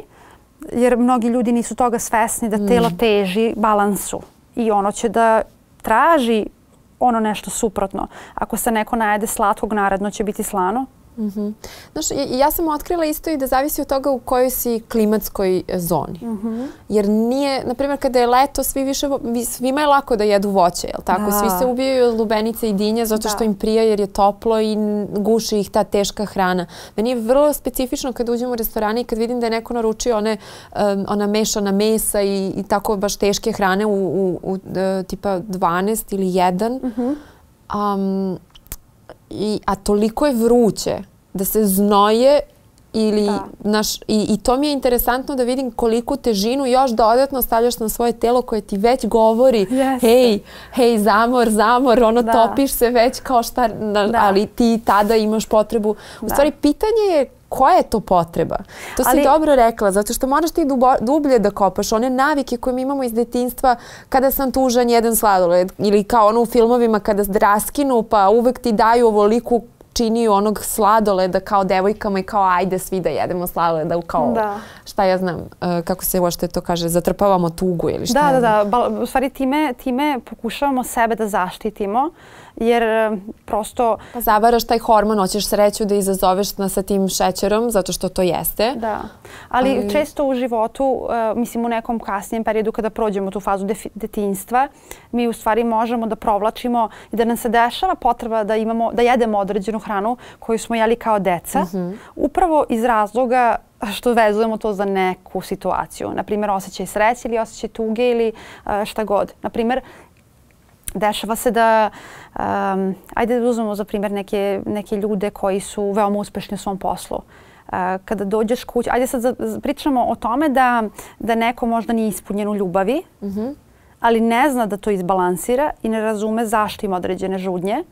jer mnogi ljudi nisu toga svesni da telo mm. teži balansu i ono će da traži ono nešto suprotno. Ako se neko najede slatkog, naredno će biti slano. Mm-hmm. Znaš, ja sam otkrila isto i da zavisi od toga u kojoj si klimatskoj zoni. Mm-hmm. Jer nije, na primjer, kada je leto, svi više, svima je lako da jedu voće, jel tako? Da. Svi se ubijaju od lubenice i dinje zato što da. im prija jer je toplo i guši ih ta teška hrana. Meni je vrlo specifično kad uđem u restorane i kad vidim da je neko naručio one, um, ona mešana mesa i, i tako baš teške hrane u, u, u uh, tipa dvanaest ili jedan. Mm-hmm. Um, I, a toliko je vruće da se znoje ili naš, i, i to mi je interesantno da vidim koliku težinu još dodatno stavljaš na svoje telo koje ti već govori yes. hej, hej, zamor, zamor, ono da. topiš se već kao šta, na, ali ti tada imaš potrebu. U stvari, pitanje je koja je to potreba? To si ali, dobro rekla, zato što moraš ti dubo, dublje da kopaš one navike koje mi imamo iz detinjstva kada sam tužan jedan sladoled ili kao ono u filmovima kada raskinu pa uvek ti daju ovoliku činiju onog sladoleda kao devojkama i kao ajde svi da jedemo sladoleda, kao da. šta ja znam, uh, kako se uopšte to kaže, zatrpavamo tugu ili šta. Da, da, da. U stvari time, time pokušavamo sebe da zaštitimo jer prosto... Pa zavaraš taj hormon, hoćeš sreću da izazoveš sa tim šećerom zato što to jeste. Da, ali, ali... često u životu, uh, mislim u nekom kasnijem periodu kada prođemo tu fazu detinjstva, mi u stvari možemo da provlačimo i da nam se dešava potreba da, imamo, da jedemo određenu hranu koju smo jeli kao deca, mm-hmm. upravo iz razloga što vezujemo to za neku situaciju. Naprimjer, osjećaj sreće ili osjećaj tuge ili uh, šta god. Naprimjer, dešava se da, um, ajde da uzmemo za primjer neke, neke ljude koji su veoma uspešni u svom poslu. Uh, kada dođeš kući, ajde sad za, pričamo o tome da, da neko možda nije ispunjen u ljubavi, mm-hmm. ali ne zna da to izbalansira i ne razume zašto ima određene žudnje,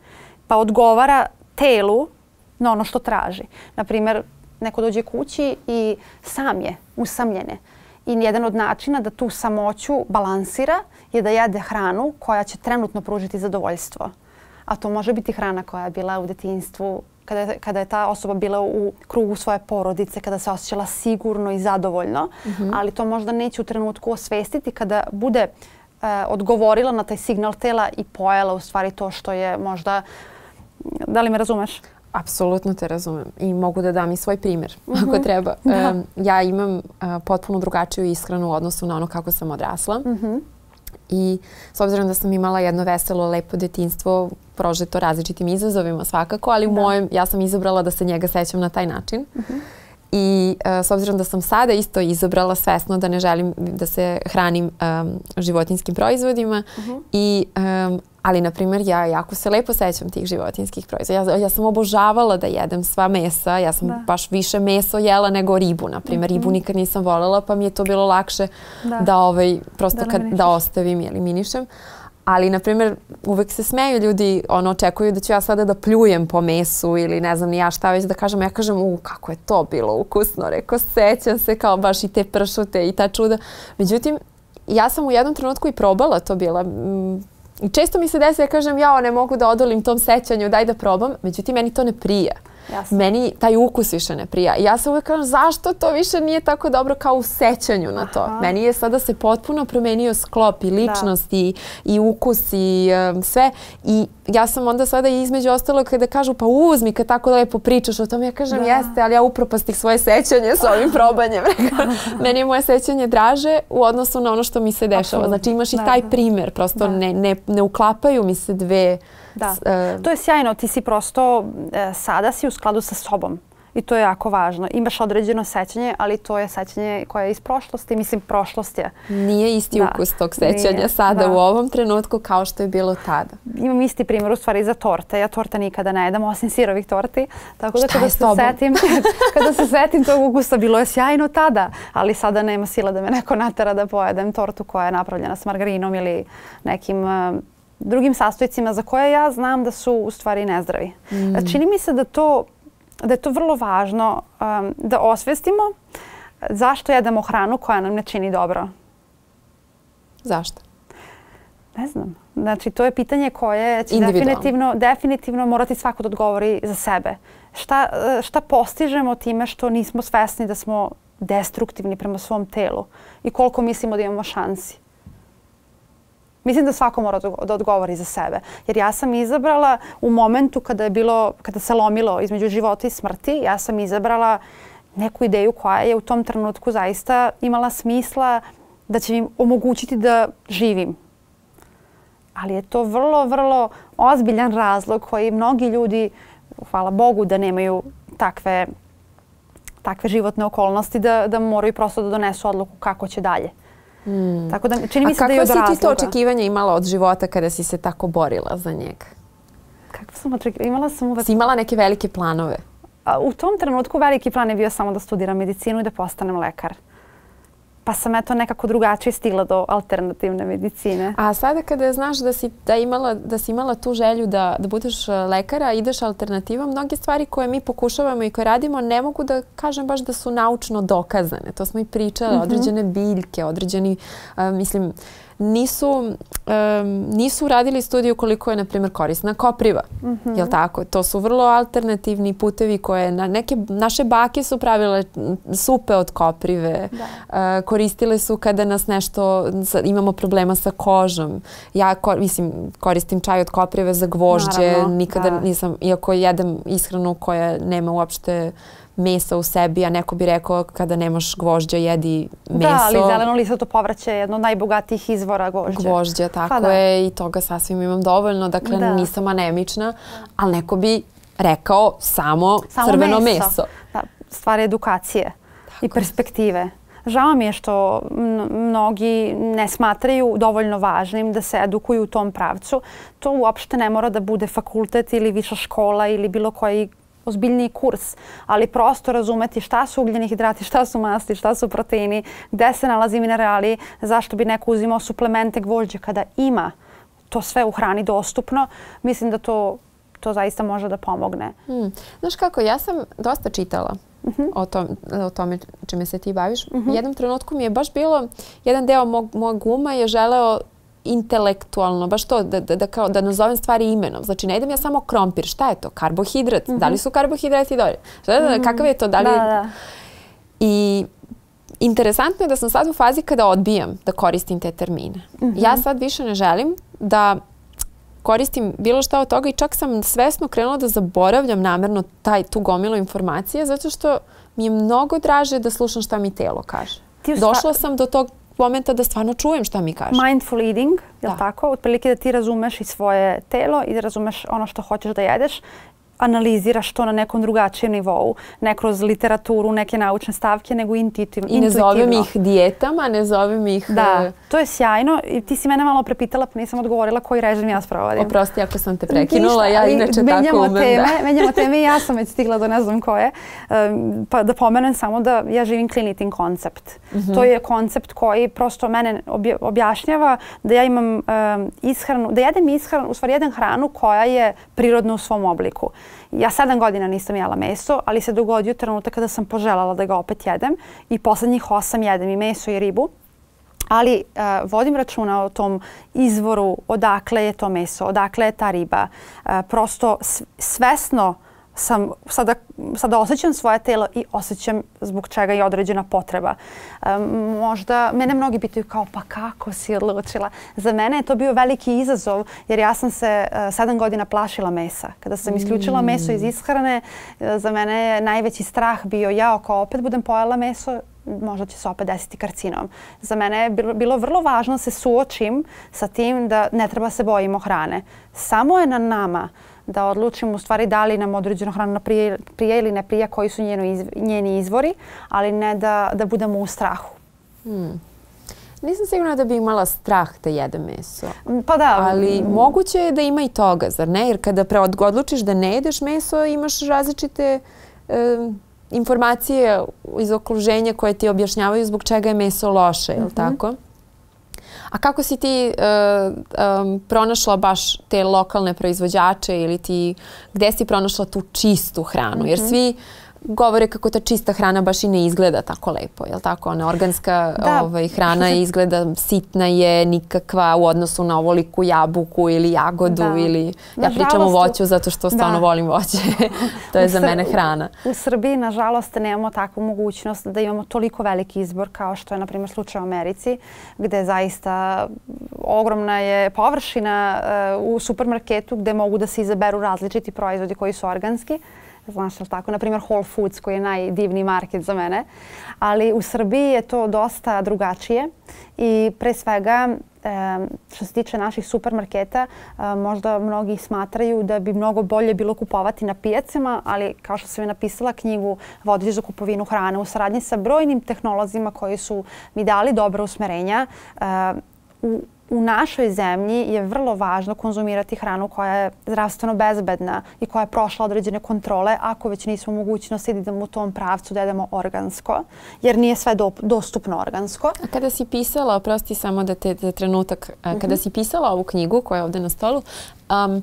pa odgovara telu na ono što traži. Naprimjer, neko dođe kući i sam je, usamljen je. I jedan od načina da tu samoću balansira je da jede hranu koja će trenutno pružiti zadovoljstvo. A to može biti hrana koja je bila u detinjstvu, kada je, kada je ta osoba bila u krugu svoje porodice, kada se osjećala sigurno i zadovoljno. Mm-hmm. Ali to možda neće u trenutku osvestiti kada bude e, odgovorila na taj signal tela i pojela u stvari to što je možda... Da li me razumeš? Apsolutno te razumem i mogu da dam i svoj primjer mm-hmm. ako treba. Um, ja imam uh, potpuno drugačiju ishranu u odnosu na ono kako sam odrasla. Mm-hmm. I s obzirom da sam imala jedno veselo, lepo detinjstvo, prožeto različitim izazovima svakako, ali u mojem, ja sam izabrala da se njega sećam na taj način. Mm-hmm. I uh, s obzirom da sam sada isto izabrala svesno da ne želim da se hranim um, životinjskim proizvodima mm-hmm. i um, ali, na primjer, ja jako se lepo sećam tih životinjskih proizvoda. Ja, ja sam obožavala da jedem sva mesa. Ja sam da. baš više meso jela nego ribu. Na primjer, mm-hmm. ribu nikad nisam voljela, pa mi je to bilo lakše da, da ovaj, prosto da, kad, da ostavim i eliminišem. Ali, na primjer, uvek se smeju ljudi, ono, očekuju da ću ja sada da pljujem po mesu ili ne znam ni ja šta već da kažem. Ja kažem, u, kako je to bilo ukusno. Rekao, sećam se kao baš i te pršute i ta čuda. Međutim, ja sam u jednom trenutku i probala to bila. Mm, I često mi se desi, ja kažem, ja ne mogu da odolim tom sećanju, daj da probam. Međutim, meni to ne prija. Jasne. Meni taj ukus više ne prija. I ja se uvijek kažem, zašto to više nije tako dobro kao u sećanju na to? Aha. Meni je sada se potpuno promenio sklop i ličnost i, i ukus i um, sve. I ja sam onda sada između ostalo kada kažu, pa uzmi kad tako lepo pričaš o tome, ja kažem, da. jeste, ali ja upropastih svoje sećanje s ovim probanjem. Meni je moje sećanje draže u odnosu na ono što mi se dešava. Absolutno. Znači imaš i taj primjer, prosto ne, ne, ne uklapaju mi se dve... Da, uh, to je sjajno. Ti si prosto, e, sada si u skladu sa sobom i to je jako važno. Imaš određeno sećanje, ali to je sećanje koje je iz prošlosti. Mislim, prošlost je. Nije isti da. ukus tog sećanja Nije, sada da. u ovom trenutku kao što je bilo tada. Imam isti primjer u stvari za torte. Ja torta nikada ne jedem, osim sirovih torti. Tako da kada se setim, kada se setim tog ukusa, bilo je sjajno tada, ali sada nema sila da me neko natera da pojedem tortu koja je napravljena s margarinom ili nekim... Uh, drugim sastojcima za koje ja znam da su u stvari nezdravi. Mm. Čini mi se da, to, da je to vrlo važno um, da osvestimo zašto jedemo hranu koja nam ne čini dobro. Zašto? Ne znam. Znači, to je pitanje koje će definitivno, definitivno morati svako da odgovori za sebe. Šta, šta postižemo time što nismo svesni da smo destruktivni prema svom telu i koliko mislimo da imamo šansi? Mislim da svako mora da odgovori za sebe. Jer ja sam izabrala u momentu kada je bilo, kada se lomilo između života i smrti, ja sam izabrala neku ideju koja je u tom trenutku zaista imala smisla da će mi omogućiti da živim. Ali je to vrlo, vrlo ozbiljan razlog koji mnogi ljudi, hvala Bogu da nemaju takve, takve životne okolnosti, da, da moraju prosto da donesu odluku kako će dalje. Mm. Tako da čini mi se da je od razloga. A kakva si ti to očekivanje imala od života kada si se tako borila za njega? Kakva sam očekivanja? Imala sam uvek... Si imala neke velike planove? A, u tom trenutku veliki plan je bio samo da studiram medicinu i da postanem lekar. Pa sam eto nekako drugačije stigla do alternativne medicine. A sada kada znaš da si, da imala, da si imala tu želju da, da budeš lekara, ideš alternativom, mnoge stvari koje mi pokušavamo i koje radimo ne mogu da kažem baš da su naučno dokazane. To smo i pričali, mm-hmm. određene biljke, određeni, uh, mislim, nisu, um, nisu radili studiju koliko je, na primjer, korisna kopriva. Mm-hmm. Jel tako? To su vrlo alternativni putevi koje na neke, naše bake su pravile supe od koprive. Da. Uh, koristile su kada nas nešto, imamo problema sa kožom. Ja kor, mislim, koristim čaj od koprive za gvožđe. Naravno, nikada da. nisam, iako jedem ishranu koja nema uopšte mesa u sebi, a neko bi rekao kada nemaš gvožđa jedi meso. Da, ali zeleno lisato povrće je jedno od najbogatijih izvora gvožđa. Gvožđa, tako pa, je. I toga sasvim imam dovoljno. Dakle, da. nisam anemična, ali neko bi rekao samo, samo crveno meso. meso. Da, stvar edukacije tako i perspektive. Žao mi je što mnogi ne smatraju dovoljno važnim da se edukuju u tom pravcu. To uopšte ne mora da bude fakultet ili viša škola ili bilo koji ozbiljniji kurs, ali prosto razumeti šta su ugljeni hidrati, šta su masti, šta su proteini, gde se nalazi minerali, zašto bi neko uzimao suplemente gvožđa kada ima to sve u hrani dostupno. Mislim da to, to zaista može da pomogne. Hmm. Znaš kako, ja sam dosta čitala uh-huh. o, tom, o tome čime se ti baviš. Uh-huh. U jednom trenutku mi je baš bilo, jedan deo mog, mog uma je želeo intelektualno, baš to, da, da, da, kao, da nazovem stvari imenom. Znači, ne idem ja samo krompir. Šta je to? Karbohidrat. Mm-hmm. Da li su karbohidrati dobri? Mm-hmm. Kakav je to? Da li... Da, da. I interesantno je da sam sad u fazi kada odbijam da koristim te termine. Mm-hmm. Ja sad više ne želim da koristim bilo šta od toga i čak sam svesno krenula da zaboravljam namerno taj, tu gomilu informacije zato što mi je mnogo draže da slušam šta mi telo kaže. Došla sam do tog momenta da stvarno čujem šta mi kaže. Mindful eating, je li tako? Otprilike da ti razumeš i svoje telo i da razumeš ono što hoćeš da jedeš. Analiziraš to na nekom drugačijem nivou. Ne kroz literaturu, neke naučne stavke, nego intuitivno. I ne zovem ih dijetama, ne zovem ih... Da, to je sjajno. I ti si mene malo prepitala, pa nisam odgovorila koji režim ja sprovodim. Oprosti ako sam te prekinula, ja inače tako umem. Teme, menjamo teme i ja sam već stigla do ne znam koje. Um, pa da pomenem samo da ja živim clean eating koncept. Mm-hmm. To je koncept koji prosto mene objašnjava da ja imam um, ishranu, da jedem ishranu, u stvari jedem hranu koja je prirodna u svom obliku. Ja sedam godina nisam jela meso, ali se dogodio trenutak kada sam poželjela da ga opet jedem i poslednjih osam jedem i meso i ribu. Ali uh, vodim računa o tom izvoru, odakle je to meso, odakle je ta riba. Uh, prosto svesno sam, sada, sada osjećam svoje telo i osjećam zbog čega je određena potreba. Um, možda, mene mnogi pitaju kao pa kako si odlučila? Za mene je to bio veliki izazov jer ja sam se uh, sedam godina plašila mesa. Kada sam isključila mm. meso iz ishrane, uh, za mene je najveći strah bio ja ako opet budem pojela meso, možda će se opet desiti karcinom. Za mene je bilo, bilo vrlo važno da se suočim sa tim da ne treba se bojimo hrane. Samo je na nama da odlučimo u stvari da li nam određena hrana prije, prije ili ne prije, koji su njeno iz, njeni izvori, ali ne da, da budemo u strahu. Hmm. Nisam sigurna da bi imala strah da jedem meso. Pa da. Ali moguće je da ima i toga, zar ne? Jer kada odlučiš da ne jedeš meso, imaš različite e, informacije iz okruženja koje ti objašnjavaju zbog čega je meso loše, je li mm-hmm. tako? A kako si ti uh, um, pronašla baš te lokalne proizvođače ili ti, gde si pronašla tu čistu hranu? Mm-hmm. Jer svi govore kako ta čista hrana baš i ne izgleda tako lepo, je li tako? Ona organska ovaj, hrana izgleda sitna je, nikakva u odnosu na ovoliku jabuku ili jagodu da. ili... Ja pričam o voću zato što stvarno da. volim voće. To je za mene hrana. U Srbiji, nažalost, nemamo takvu mogućnost da imamo toliko veliki izbor kao što je, na primjer, slučaj u Americi, gde zaista ogromna je površina uh, u supermarketu gde mogu da se izaberu različiti proizvodi koji su organski. Znaš li tako? Naprimjer Whole Foods koji je najdivniji market za mene. Ali u Srbiji je to dosta drugačije i pre svega što se tiče naših supermarketa možda mnogi smatraju da bi mnogo bolje bilo kupovati na pijacama, ali kao što sam je napisala knjigu Vodilj za kupovinu hrane u saradnji sa brojnim tehnolozima koji su mi dali dobra usmerenja, u U našoj zemlji je vrlo važno konzumirati hranu koja je zdravstveno bezbedna i koja je prošla određene kontrole, ako već nismo u mogućnosti da idemo u tom pravcu da jedemo organsko, jer nije sve do, dostupno organsko. A kada si pisala, oprosti samo da te, te trenutak, mm-hmm. kada si pisala ovu knjigu koja je ovde na stolu, um,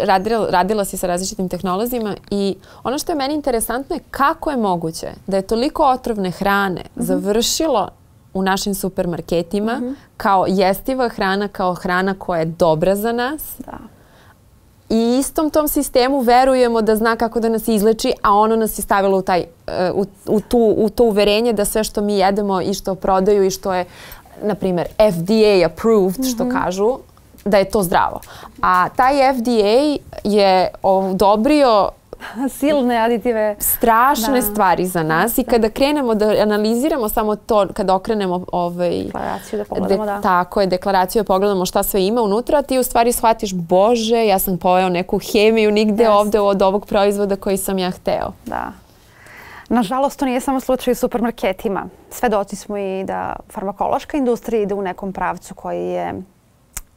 radila, radila si sa različitim tehnolozima i ono što je meni interesantno je kako je moguće da je toliko otrovne hrane mm-hmm. završilo u našim supermarketima mm-hmm. kao jestiva hrana, kao hrana koja je dobra za nas. Da. I istom tom sistemu verujemo da zna kako da nas izleči, a ono nas je stavilo u, taj, u, u, tu, u to uverenje da sve što mi jedemo i što prodaju i što je, na primjer, F D A approved, mm-hmm. što kažu, da je to zdravo. A taj F D A je odobrio silne aditive. Strašne da. stvari za nas i kada krenemo da analiziramo samo to, kada okrenemo ovaj, deklaraciju da pogledamo, de, da. Tako je, deklaraciju da pogledamo šta sve ima unutra, ti u stvari shvatiš, Bože, ja sam pojeo neku hemiju nigde yes. ovde od ovog proizvoda koji sam ja hteo. Da. Nažalost, to nije samo slučaj u supermarketima. Svedoci smo i da farmakološka industrija ide u nekom pravcu koji je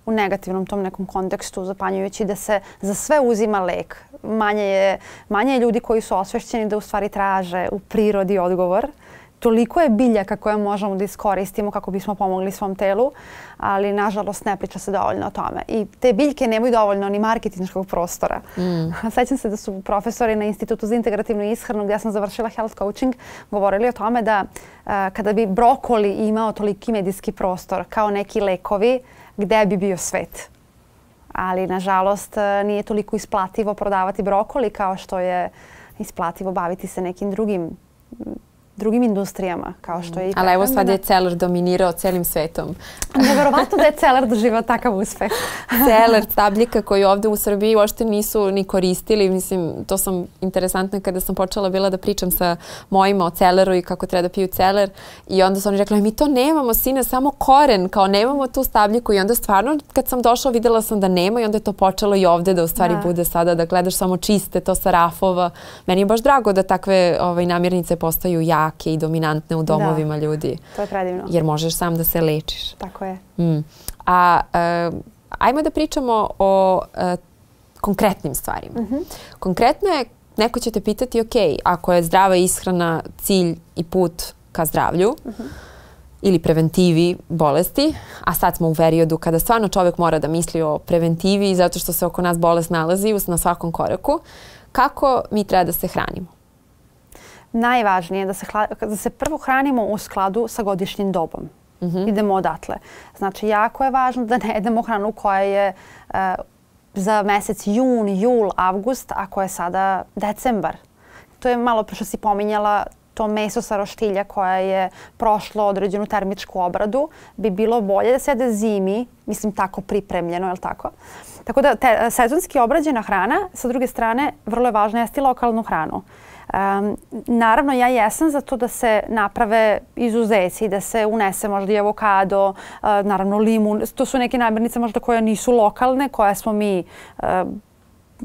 u negativnom tom nekom kontekstu, zapanjujući da se za sve uzima lek. Manje je, manje je ljudi koji su osvešćeni da u stvari traže u prirodi odgovor. Toliko je biljaka koje možemo da iskoristimo kako bismo pomogli svom telu, ali nažalost ne priča se dovoljno o tome. I te biljke nemaju dovoljno ni marketinškog prostora. Mm. Sećam se da su profesori na Institutu za integrativnu ishranu, gdje sam završila health coaching, govorili o tome da uh, kada bi brokoli imao toliki medijski prostor kao neki lekovi, gde bi bio svet. Ali, nažalost, nije toliko isplativo prodavati brokoli kao što je isplativo baviti se nekim drugim drugim industrijama, kao što je i... Ali evo sad je Celer dominirao celim svetom. Neverovatno da je Celer doživao takav uspeh. Celer, stabljika koju ovde u Srbiji uopšte nisu ni koristili. Mislim, to sam interesantno kada sam počela bila da pričam sa mojima o Celeru i kako treba da piju Celer. I onda su oni rekli, mi to nemamo, sine, samo koren, kao nemamo tu stabljiku. I onda stvarno, kad sam došla, videla sam da nema i onda je to počelo i ovde da u stvari da. bude sada, da gledaš samo čiste, to sa rafova. Meni je baš drago da takve ovaj, namirnice postaju jake i dominantne u domovima da, ljudi. To je predivno. Jer možeš sam da se lečiš. Tako je. Mm. A uh, ajmo da pričamo o uh, konkretnim stvarima. Mm-hmm. Konkretno je, neko će te pitati, ok, ako je zdrava ishrana cilj i put ka zdravlju, mm-hmm. ili preventivi bolesti, a sad smo u periodu kada stvarno čovjek mora da misli o preventivi zato što se oko nas bolest nalazi na svakom koraku, kako mi treba da se hranimo? Najvažnije je da se, da se prvo hranimo u skladu sa godišnjim dobom. Mm-hmm. Idemo odatle. Znači, jako je važno da ne jedemo hranu koja je uh, za mesec jun, jul, avgust, a koja je sada decembar. To je malo što si pominjala, to meso sa roštilja koje je prošlo određenu termičku obradu, bi bilo bolje da se jede zimi, mislim tako pripremljeno, je li tako? Tako da te, sezonski obrađena hrana, sa druge strane, vrlo je važno jesti lokalnu hranu. Um, naravno, ja jesam za to da se naprave izuzeci, da se unese možda i avokado, uh, naravno limun. To su neke namirnice možda koje nisu lokalne, koje smo mi uh,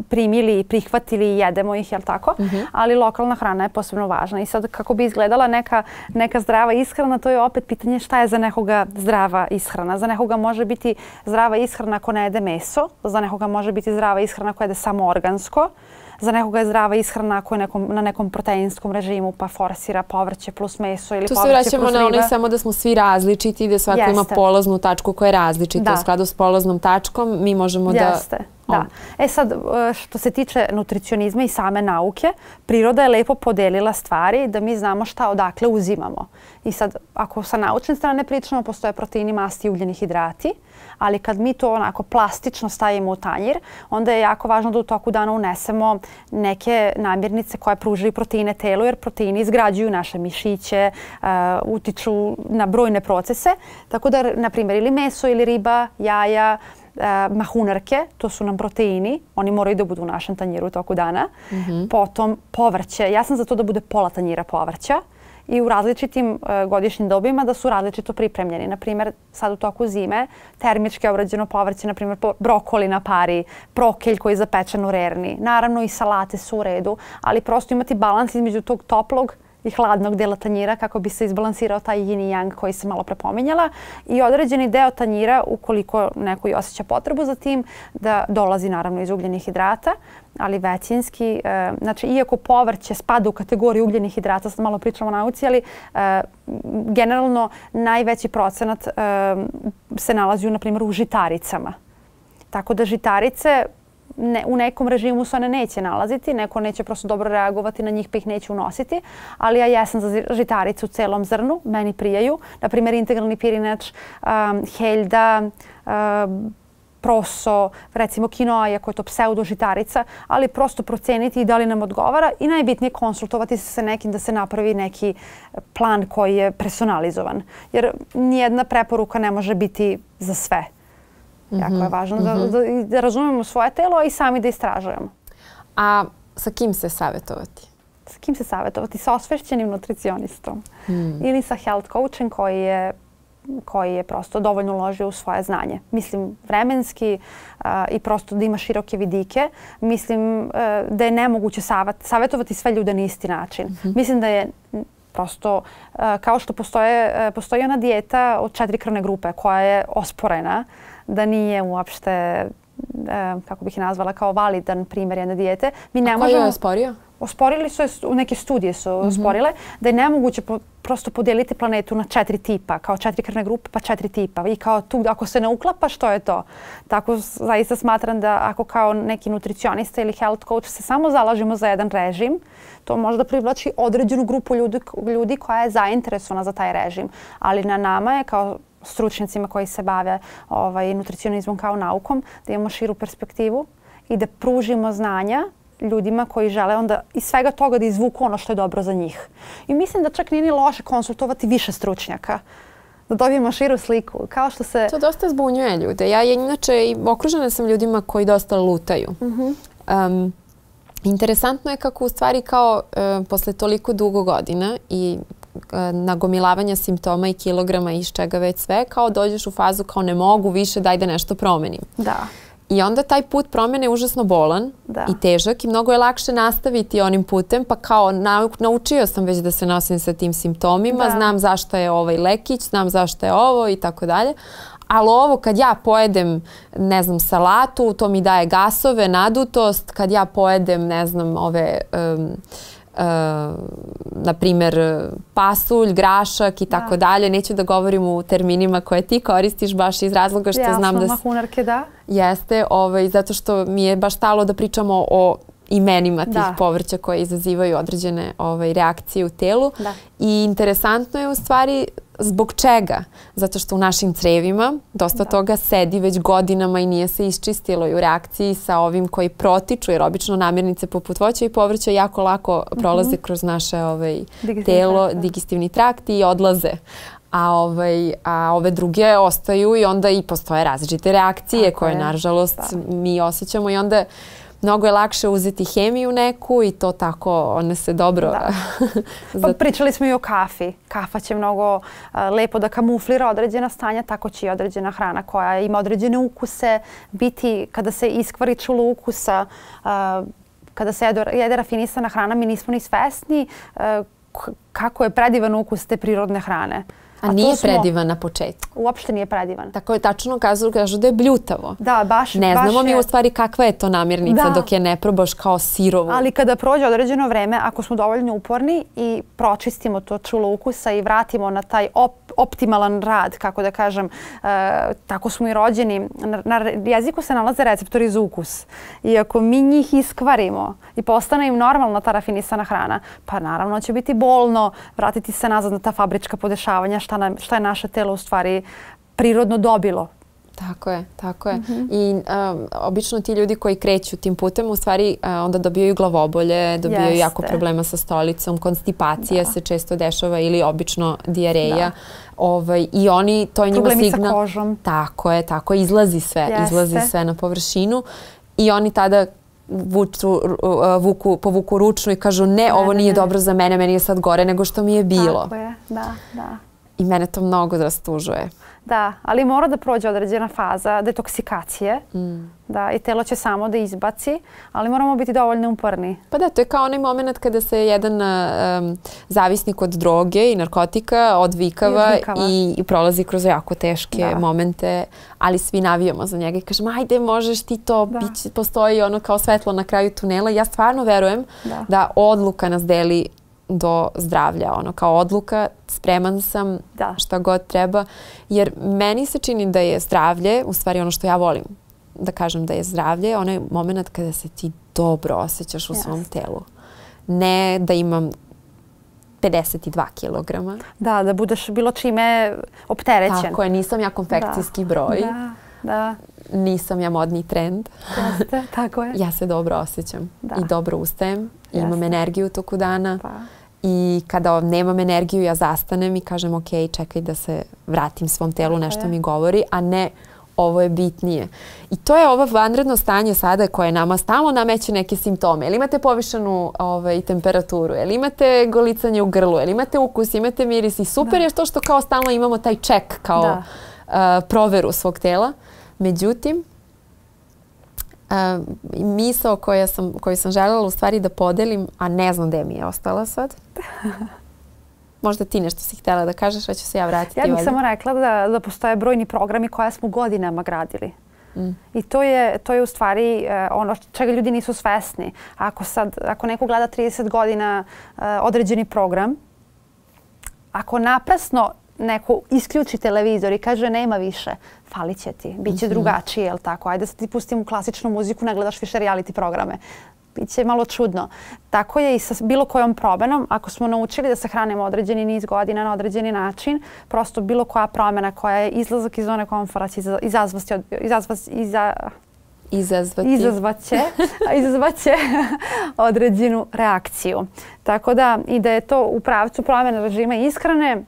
primili i prihvatili i jedemo ih, jel tako? Mm-hmm. Ali lokalna hrana je posebno važna. I sad kako bi izgledala neka, neka zdrava ishrana, to je opet pitanje šta je za nekoga zdrava ishrana. Za nekoga može biti zdrava ishrana ako ne jede meso, za nekoga može biti zdrava ishrana ako jede samo organsko, za nekoga je zdrava ishrana ako je nekom, na nekom proteinskom režimu pa forsira povrće plus meso ili tu povrće plus riba. Tu se vraćamo na onaj samo da smo svi različiti i da svako Jeste. ima polaznu tačku koja je različita. Da. U skladu s polaznom tačkom mi možemo Jeste. da Da. E sad, što se tiče nutricionizma i same nauke, priroda je lepo podelila stvari da mi znamo šta odakle uzimamo. I sad, ako sa naučne strane pričamo, postoje proteini, masti i ugljeni hidrati, ali kad mi to onako plastično stavimo u tanjir, onda je jako važno da u toku dana unesemo neke namirnice koje pružaju proteine telu, jer proteini izgrađuju naše mišiće, uh, utiču na brojne procese. Tako da, na primjer, ili meso ili riba, jaja, Uh, mahunarke, to su nam proteini, oni moraju da budu u našem tanjiru u toku dana. Mm-hmm. Potom povrće, ja sam za to da bude pola tanjira povrća i u različitim uh, godišnjim dobima da su različito pripremljeni. Naprimjer, sad u toku zime termički obrađeno povrće, naprimjer brokoli na pari, prokelj koji je zapečen u rerni. Naravno i salate su u redu, ali prosto imati balans između tog toplog i hladnog dela tanjira kako bi se izbalansirao taj yin i yang koji sam malo prepominjala i određeni deo tanjira, ukoliko neko i osjeća potrebu za tim, da dolazi naravno iz ugljenih hidrata, ali većinski, e, znači iako povrće spada u kategoriju ugljenih hidrata, sad malo pričamo o nauci, ali e, generalno najveći procenat e, se nalazi na primjer u žitaricama. Tako da žitarice Ne, u nekom režimu se one neće nalaziti, neko neće prosto dobro reagovati na njih pa ih neće unositi, ali ja jesam za žitarice u celom zrnu, meni prijaju. Naprimjer, integralni pirinač, um, heljda, um, proso, recimo kinoa, iako je to pseudo žitarica, ali prosto proceniti da li nam odgovara i najbitnije konsultovati se sa nekim da se napravi neki plan koji je personalizovan. Jer nijedna preporuka ne može biti za sve. Jako je važno da, da, da razumemo svoje telo i sami da istražujemo. A sa kim se savjetovati? Sa kim se savjetovati? Sa osvešćenim nutricionistom. Hmm. Ili sa health coachem koji je, koji je prosto dovoljno uložio u svoje znanje. Mislim vremenski uh, i prosto da ima široke vidike. Mislim uh, da je nemoguće savjet, savjetovati sve ljude na isti način. Hmm. Mislim da je prosto uh, kao što postoje, uh, postoji ona dijeta od četiri krvne grupe koja je osporena, da nije uopšte, e, kako bih je nazvala, kao validan primjer jedne dijete. Mi ne A možemo, koji je osporio? Osporili su je, neke studije su mm-hmm. osporile, da je nemoguće po, prosto podijeliti planetu na četiri tipa, kao četiri krvne grupe pa četiri tipa. I kao tu, ako se ne uklapa, što je to? Tako zaista smatram da ako kao neki nutricionista ili health coach se samo zalažemo za jedan režim, to možda privlači određenu grupu ljudi, ljudi koja je zainteresovana za taj režim. Ali na nama je kao stručnjacima koji se bave ovaj, nutricionizmom kao naukom, da imamo širu perspektivu i da pružimo znanja ljudima koji žele onda iz svega toga da izvuku ono što je dobro za njih. I mislim da čak nije ni loše konsultovati više stručnjaka, da dobijemo širu sliku. Kao što se... To dosta zbunjuje ljude. Ja inače okružena sam ljudima koji dosta lutaju. Mm-hmm. um, interesantno je kako u stvari kao uh, posle toliko dugo godina i nagomilavanja simptoma i kilograma i iz čega već sve, kao dođeš u fazu kao ne mogu više, daj da nešto promenim. Da. I onda taj put promjene je užasno bolan da. i težak i mnogo je lakše nastaviti onim putem, pa kao nau, naučio sam već da se nosim sa tim simptomima, da. znam zašto je ovaj lekić, znam zašto je ovo i tako dalje. Ali ovo kad ja pojedem, ne znam, salatu, to mi daje gasove, nadutost, kad ja pojedem, ne znam, ove... Um, Uh, na primjer pasulj, grašak i tako dalje. Neću da govorim u terminima koje ti koristiš baš iz razloga što Jasno, znam da... Jasno, mahunarke, da. Jeste, ovaj, zato što mi je baš stalo da pričamo o imenima tih da. povrća koje izazivaju određene ovaj, reakcije u telu. Da. I interesantno je u stvari zbog čega? Zato što u našim crevima dosta da. toga sedi već godinama i nije se iščistilo i u reakciji sa ovim koji protiču, jer obično namirnice poput voća i povrća jako lako prolaze mm-hmm. kroz naše ovaj, telo, trakt, digestivni trakt i odlaze. A, ovaj, a ove druge ostaju i onda i postoje različite reakcije Tako koje je. nažalost da. mi osjećamo i onda mnogo je lakše uzeti hemiju neku i to tako, one se dobro... Pa pričali smo i o kafi. Kafa će mnogo uh, lepo da kamuflira određena stanja, tako će i određena hrana koja ima određene ukuse biti, kada se iskvari čulo ukusa, uh, kada se jede, jede rafinisana hrana, mi nismo ni svesni uh, kako je predivan ukus te prirodne hrane. A, a nije smo, predivan na početku? Uopšte nije predivan. Tako je tačno kažu, kažu da je bljutavo. Da, baš. Ne baš znamo je... mi u stvari kakva je to namirnica da. Dok je ne probaš kao sirovu. Ali kada prođe određeno vreme, ako smo dovoljno uporni i pročistimo to čulo ukusa i vratimo na taj op, optimalan rad, kako da kažem, uh, tako smo i rođeni. Na, na jeziku se nalaze receptori za ukus. I ako mi njih iskvarimo i postane im normalna ta rafinisana hrana, pa naravno će biti bolno vratiti se nazad na ta fabrička podešavanja, šta, nam, šta je naše telo u stvari prirodno dobilo. Tako je, tako je. Mm-hmm. I um, obično ti ljudi koji kreću tim putem u stvari uh, onda dobijaju glavobolje, dobijaju Jeste. jako problema sa stolicom, konstipacija da. se često dešava ili obično dijareja. Da. Ovaj, I oni, to je njima signal. Problemi sa kožom. Tako je, tako je. Izlazi sve, Jeste. izlazi sve na površinu i oni tada vuču, vuku, povuku ručnu i kažu ne, ne ovo nije ne. dobro za mene, meni je sad gore nego što mi je bilo. Tako je, da, da. I mene to mnogo rastužuje. Da, ali mora da prođe određena faza detoksikacije. Mm. Da, i telo će samo da izbaci, ali moramo biti dovoljno uporni. Pa da, to je kao onaj moment kada se jedan um, zavisnik od droge i narkotika odvikava, I, odvikava. i, i prolazi kroz jako teške da. momente, ali svi navijamo za njega i kažemo ajde, možeš ti to, da. Bić, postoji ono kao svetlo na kraju tunela. Ja stvarno verujem da, da odluka nas deli do zdravlja, ono kao odluka, spreman sam da. šta god treba, jer meni se čini da je zdravlje, u stvari ono što ja volim da kažem da je zdravlje, onaj moment kada se ti dobro osjećaš u yes. svom telu. Ne da imam pedeset dva kilograma. Da, da budeš bilo čime opterećen. Tako je, nisam ja konfekcijski da. broj. Da, da. Nisam ja modni trend. Jeste, tako je. Ja se dobro osjećam da. i dobro ustajem. Jeste. Imam energiju toku dana. Pa. I kada nemam energiju, ja zastanem i kažem ok, čekaj da se vratim svom telu, nešto je. mi govori, a ne ovo je bitnije. I to je ovo vanredno stanje sada koje nama stalno nameće neke simptome. Jel imate povišenu ovaj, temperaturu, jel imate golicanje u grlu, jel imate ukus, imate miris i super da. je to što kao stalno imamo taj ček kao uh, proveru svog tela. Međutim, uh, misao koja sam, koju sam željela u stvari da podelim, a ne znam gde mi je ostala sad. Možda ti nešto si htjela da kažeš, pa ću se ja vratiti. Ja bih ovdje. samo rekla da, da postoje brojni programi koje smo godinama gradili. Mm. I to je, to je u stvari uh, ono čega ljudi nisu svesni. Ako, sad, ako neko gleda trideset godina uh, određeni program, ako naprasno neko isključi televizor i kaže nema više, falit će ti, bit će mm-hmm. drugačije, jel tako? Ajde sad ti pustim u klasičnu muziku, ne gledaš više reality programe. Biće malo čudno. Tako je i sa bilo kojom promenom. Ako smo naučili da se hranimo određeni niz godina na određeni način, prosto bilo koja promjena koja je izlazak iz zone komfora će izazvati, izazvati, iza, izazvati. izazvaće, izazvaće određenu reakciju. Tako da i da je to u pravcu promjene režima ishrane,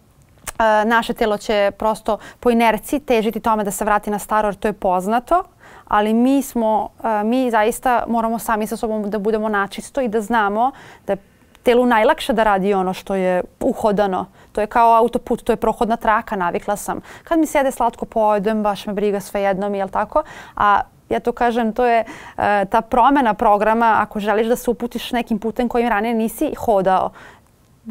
naše telo će prosto po inerciji težiti tome da se vrati na staro, jer to je poznato. Ali mi smo, mi zaista moramo sami sa sobom da budemo načisto i da znamo da je telu najlakše da radi ono što je uhodano. To je kao autoput, to je prohodna traka, navikla sam. Kad mi sjede slatko pojedem, baš me briga sve jednom, jel tako? A ja to kažem, to je ta promjena programa, ako želiš da se uputiš nekim putem kojim ranije nisi hodao.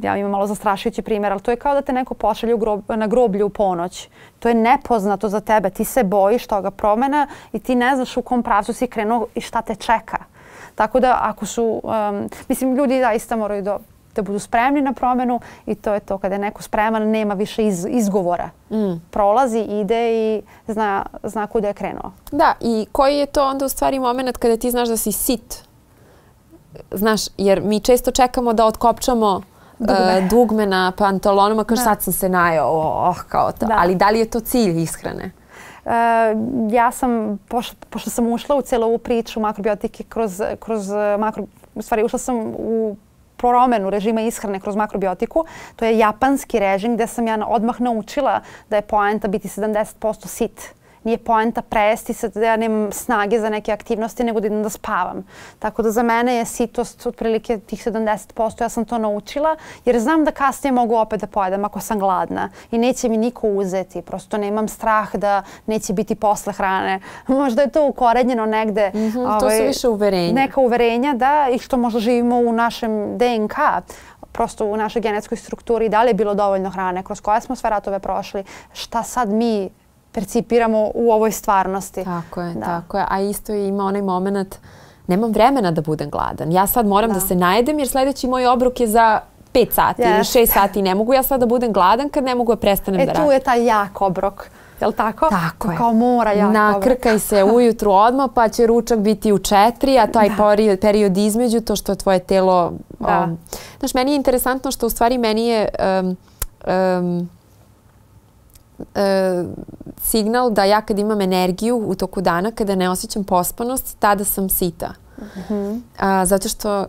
Ja imam malo zastrašujući primjer, ali to je kao da te neko pošalje grob, na groblju u ponoć. To je nepoznato za tebe. Ti se bojiš toga promjena i ti ne znaš u kom pravcu si krenuo i šta te čeka. Tako da ako su, um, mislim, ljudi zaista moraju da, da budu spremni na promjenu i to je to. Kada je neko spreman, nema više iz, izgovora. Mm. Prolazi, ide i zna, zna kuda je krenuo. Da, i koji je to onda u stvari moment kada ti znaš da si sit? Znaš, jer mi često čekamo da otkopčamo Dugme. Uh, dugme na pantalonima, kao sad sam se najao, oh, kao to. Da. Ali da li je to cilj ishrane? Uh, ja sam, pošto, pošto sam ušla u cijelu ovu priču makrobiotike kroz, kroz makro, u stvari ušla sam u promjenu režima ishrane kroz makrobiotiku. To je japanski režim gdje sam ja odmah naučila da je poenta biti sedamdeset posto sit. Nije poenta prejesti se da ja nemam snage za neke aktivnosti, nego da idem da spavam. Tako da za mene je sitost otprilike tih sedamdeset posto. Ja sam to naučila jer znam da kasnije mogu opet da pojedem ako sam gladna. I neće mi niko uzeti. Prosto nemam strah da neće biti posle hrane. Možda je to ukorenjeno negde. Mm-hmm, ovaj, to su više uverenja. Neka uverenja, da, i što možda živimo u našem D N K. prosto u našoj genetskoj strukturi, da li je bilo dovoljno hrane, kroz koje smo sve ratove prošli, šta sad mi percipiramo u ovoj stvarnosti. Tako je, tako je. A isto ima onaj moment, nemam vremena da budem gladan. Ja sad moram da se najedem jer sljedeći moj obrok je za pet sati ili šest sati. Ne mogu ja sad da budem gladan kad ne mogu da prestanem da radim. E tu je taj jak obrok. Je li tako? Tako je. Kao mora jak obrok. Nakrkaj se ujutru odmah pa će ručak biti u četiri, a taj period između, to što je tvoje telo... Znaš, meni je interesantno što u stvari meni je signal da ja kad imam energiju u toku dana, kada ne osjećam pospanost, tada sam sita. Zato što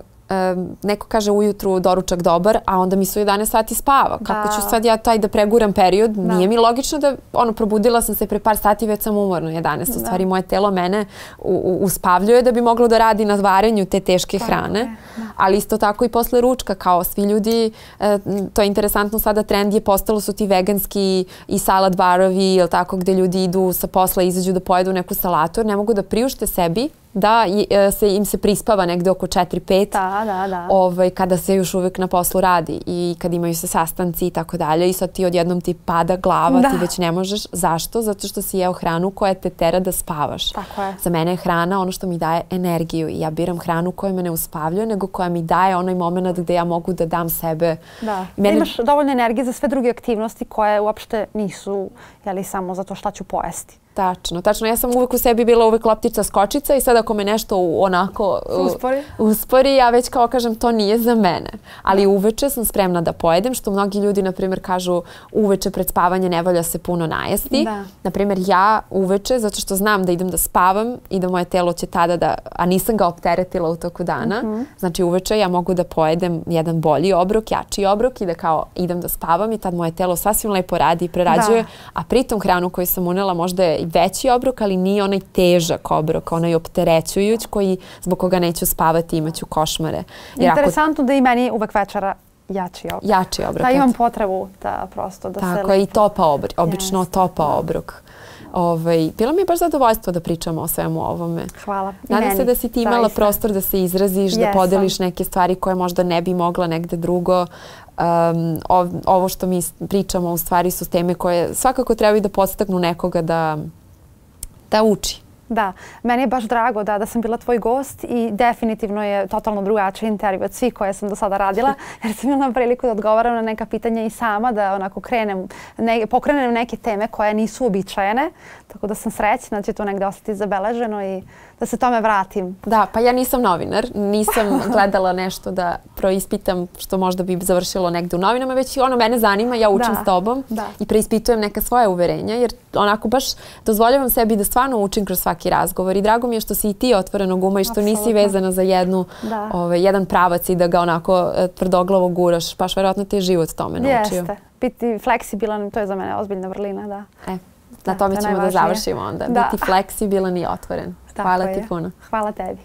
neko kaže ujutru doručak dobar, a onda mi se u jedanaest sati spava. Kako ću sad ja taj da preguram period? Nije mi logično da, ono, probudila sam se pre par sati, već sam umorna u jedanaest. U stvari, moje telo mene uspavljuje da bi moglo da radi na varenju te teške hrane. Ali isto tako i posle ručka, kao svi ljudi, to je interesantno sada, trend je postalo su ti veganski i salad barovi, ili tako, gde ljudi idu sa posla, izađu da pojedu neku salatu, jer ne mogu da priušte sebi da im se prispava negde oko četiri pet kada se još uvijek na poslu radi i kad imaju se sastanci i tako dalje i sad ti odjednom ti pada glava, ti već ne možeš. Zašto? Zato što si jeo hranu koja te tera da spavaš. Za mene je hrana ono što mi daje energiju i ja biram hranu koja me ne uspavljuje, nego koja mi daje onaj moment gde ja mogu da dam sebe. Da, imaš dovoljno energije za sve druge aktivnosti koje uopšte nisu samo zato šta ću pojesti. Tačno, tačno. Ja sam uvijek u sebi bila uvijek loptica skočica i sad ako me nešto onako uspori, ja već kao kažem to nije za mene. Ali uveče sam spremna da pojedem, što mnogi ljudi, na primjer, kažu uveče pred spavanje ne valja se puno najesti. Na primjer, ja uveče, zato što znam da idem da spavam i da moje telo će tada da, a nisam ga opteretila u toku dana, znači uveče ja mogu da pojedem jedan bolji obrok, jači obrok i da kao idem da spavam i tad moje telo sasvim lepo radi i prerađuje, a pritom hranu koju sam unela možda je veći obrok, ali nije onaj težak obrok, onaj opterećujuć koji zbog koga neću spavati i imaću košmare. Interesantno da i meni uvek večera jači obrok. Jači obrok. Da imam potrebu da prosto da se... Tako je i topa obrok, obično topa obrok. Bilo mi je baš zadovoljstvo da pričamo o svemu ovome. Hvala. Nadam se da si ti imala prostor da se izraziš, da podeliš neke stvari koje možda ne bi mogla negde drugo. Ovo što mi pričamo u stvari su teme koje svakako trebaju da podstaknu nekoga da da uči. Da, meni je baš drago da sam bila tvoj gost i definitivno je totalno drugačiji intervju od svih koje sam do sada radila, jer sam imala priliku da odgovaram na neka pitanja i sama, da onako krenem, pokrenem neke teme koje nisu uobičajene, tako da sam srećna da će to negde ostati zabeleženo i da se tome vratim. Da, pa ja nisam novinar, nisam gledala nešto da proispitam što možda bi završilo negde u novinama, već ono mene zanima, ja učim s tobom i preispitujem neka svoja uverenja, jer onako baš dozvoljavam sebi da stvarno učim kroz svaki razgovor i drago mi je što si i ti otvorenog uma i što nisi vezana za jedan pravac i da ga onako tvrdoglavo guraš, baš verovatno te je život tome naučio. Jeste, biti fleksibilan, to je za mene ozbiljna vrlina, da. Na tome ćemo da završimo onda. Biti fleksibilan i otvoren. Hvala ti puno. Hvala tebi.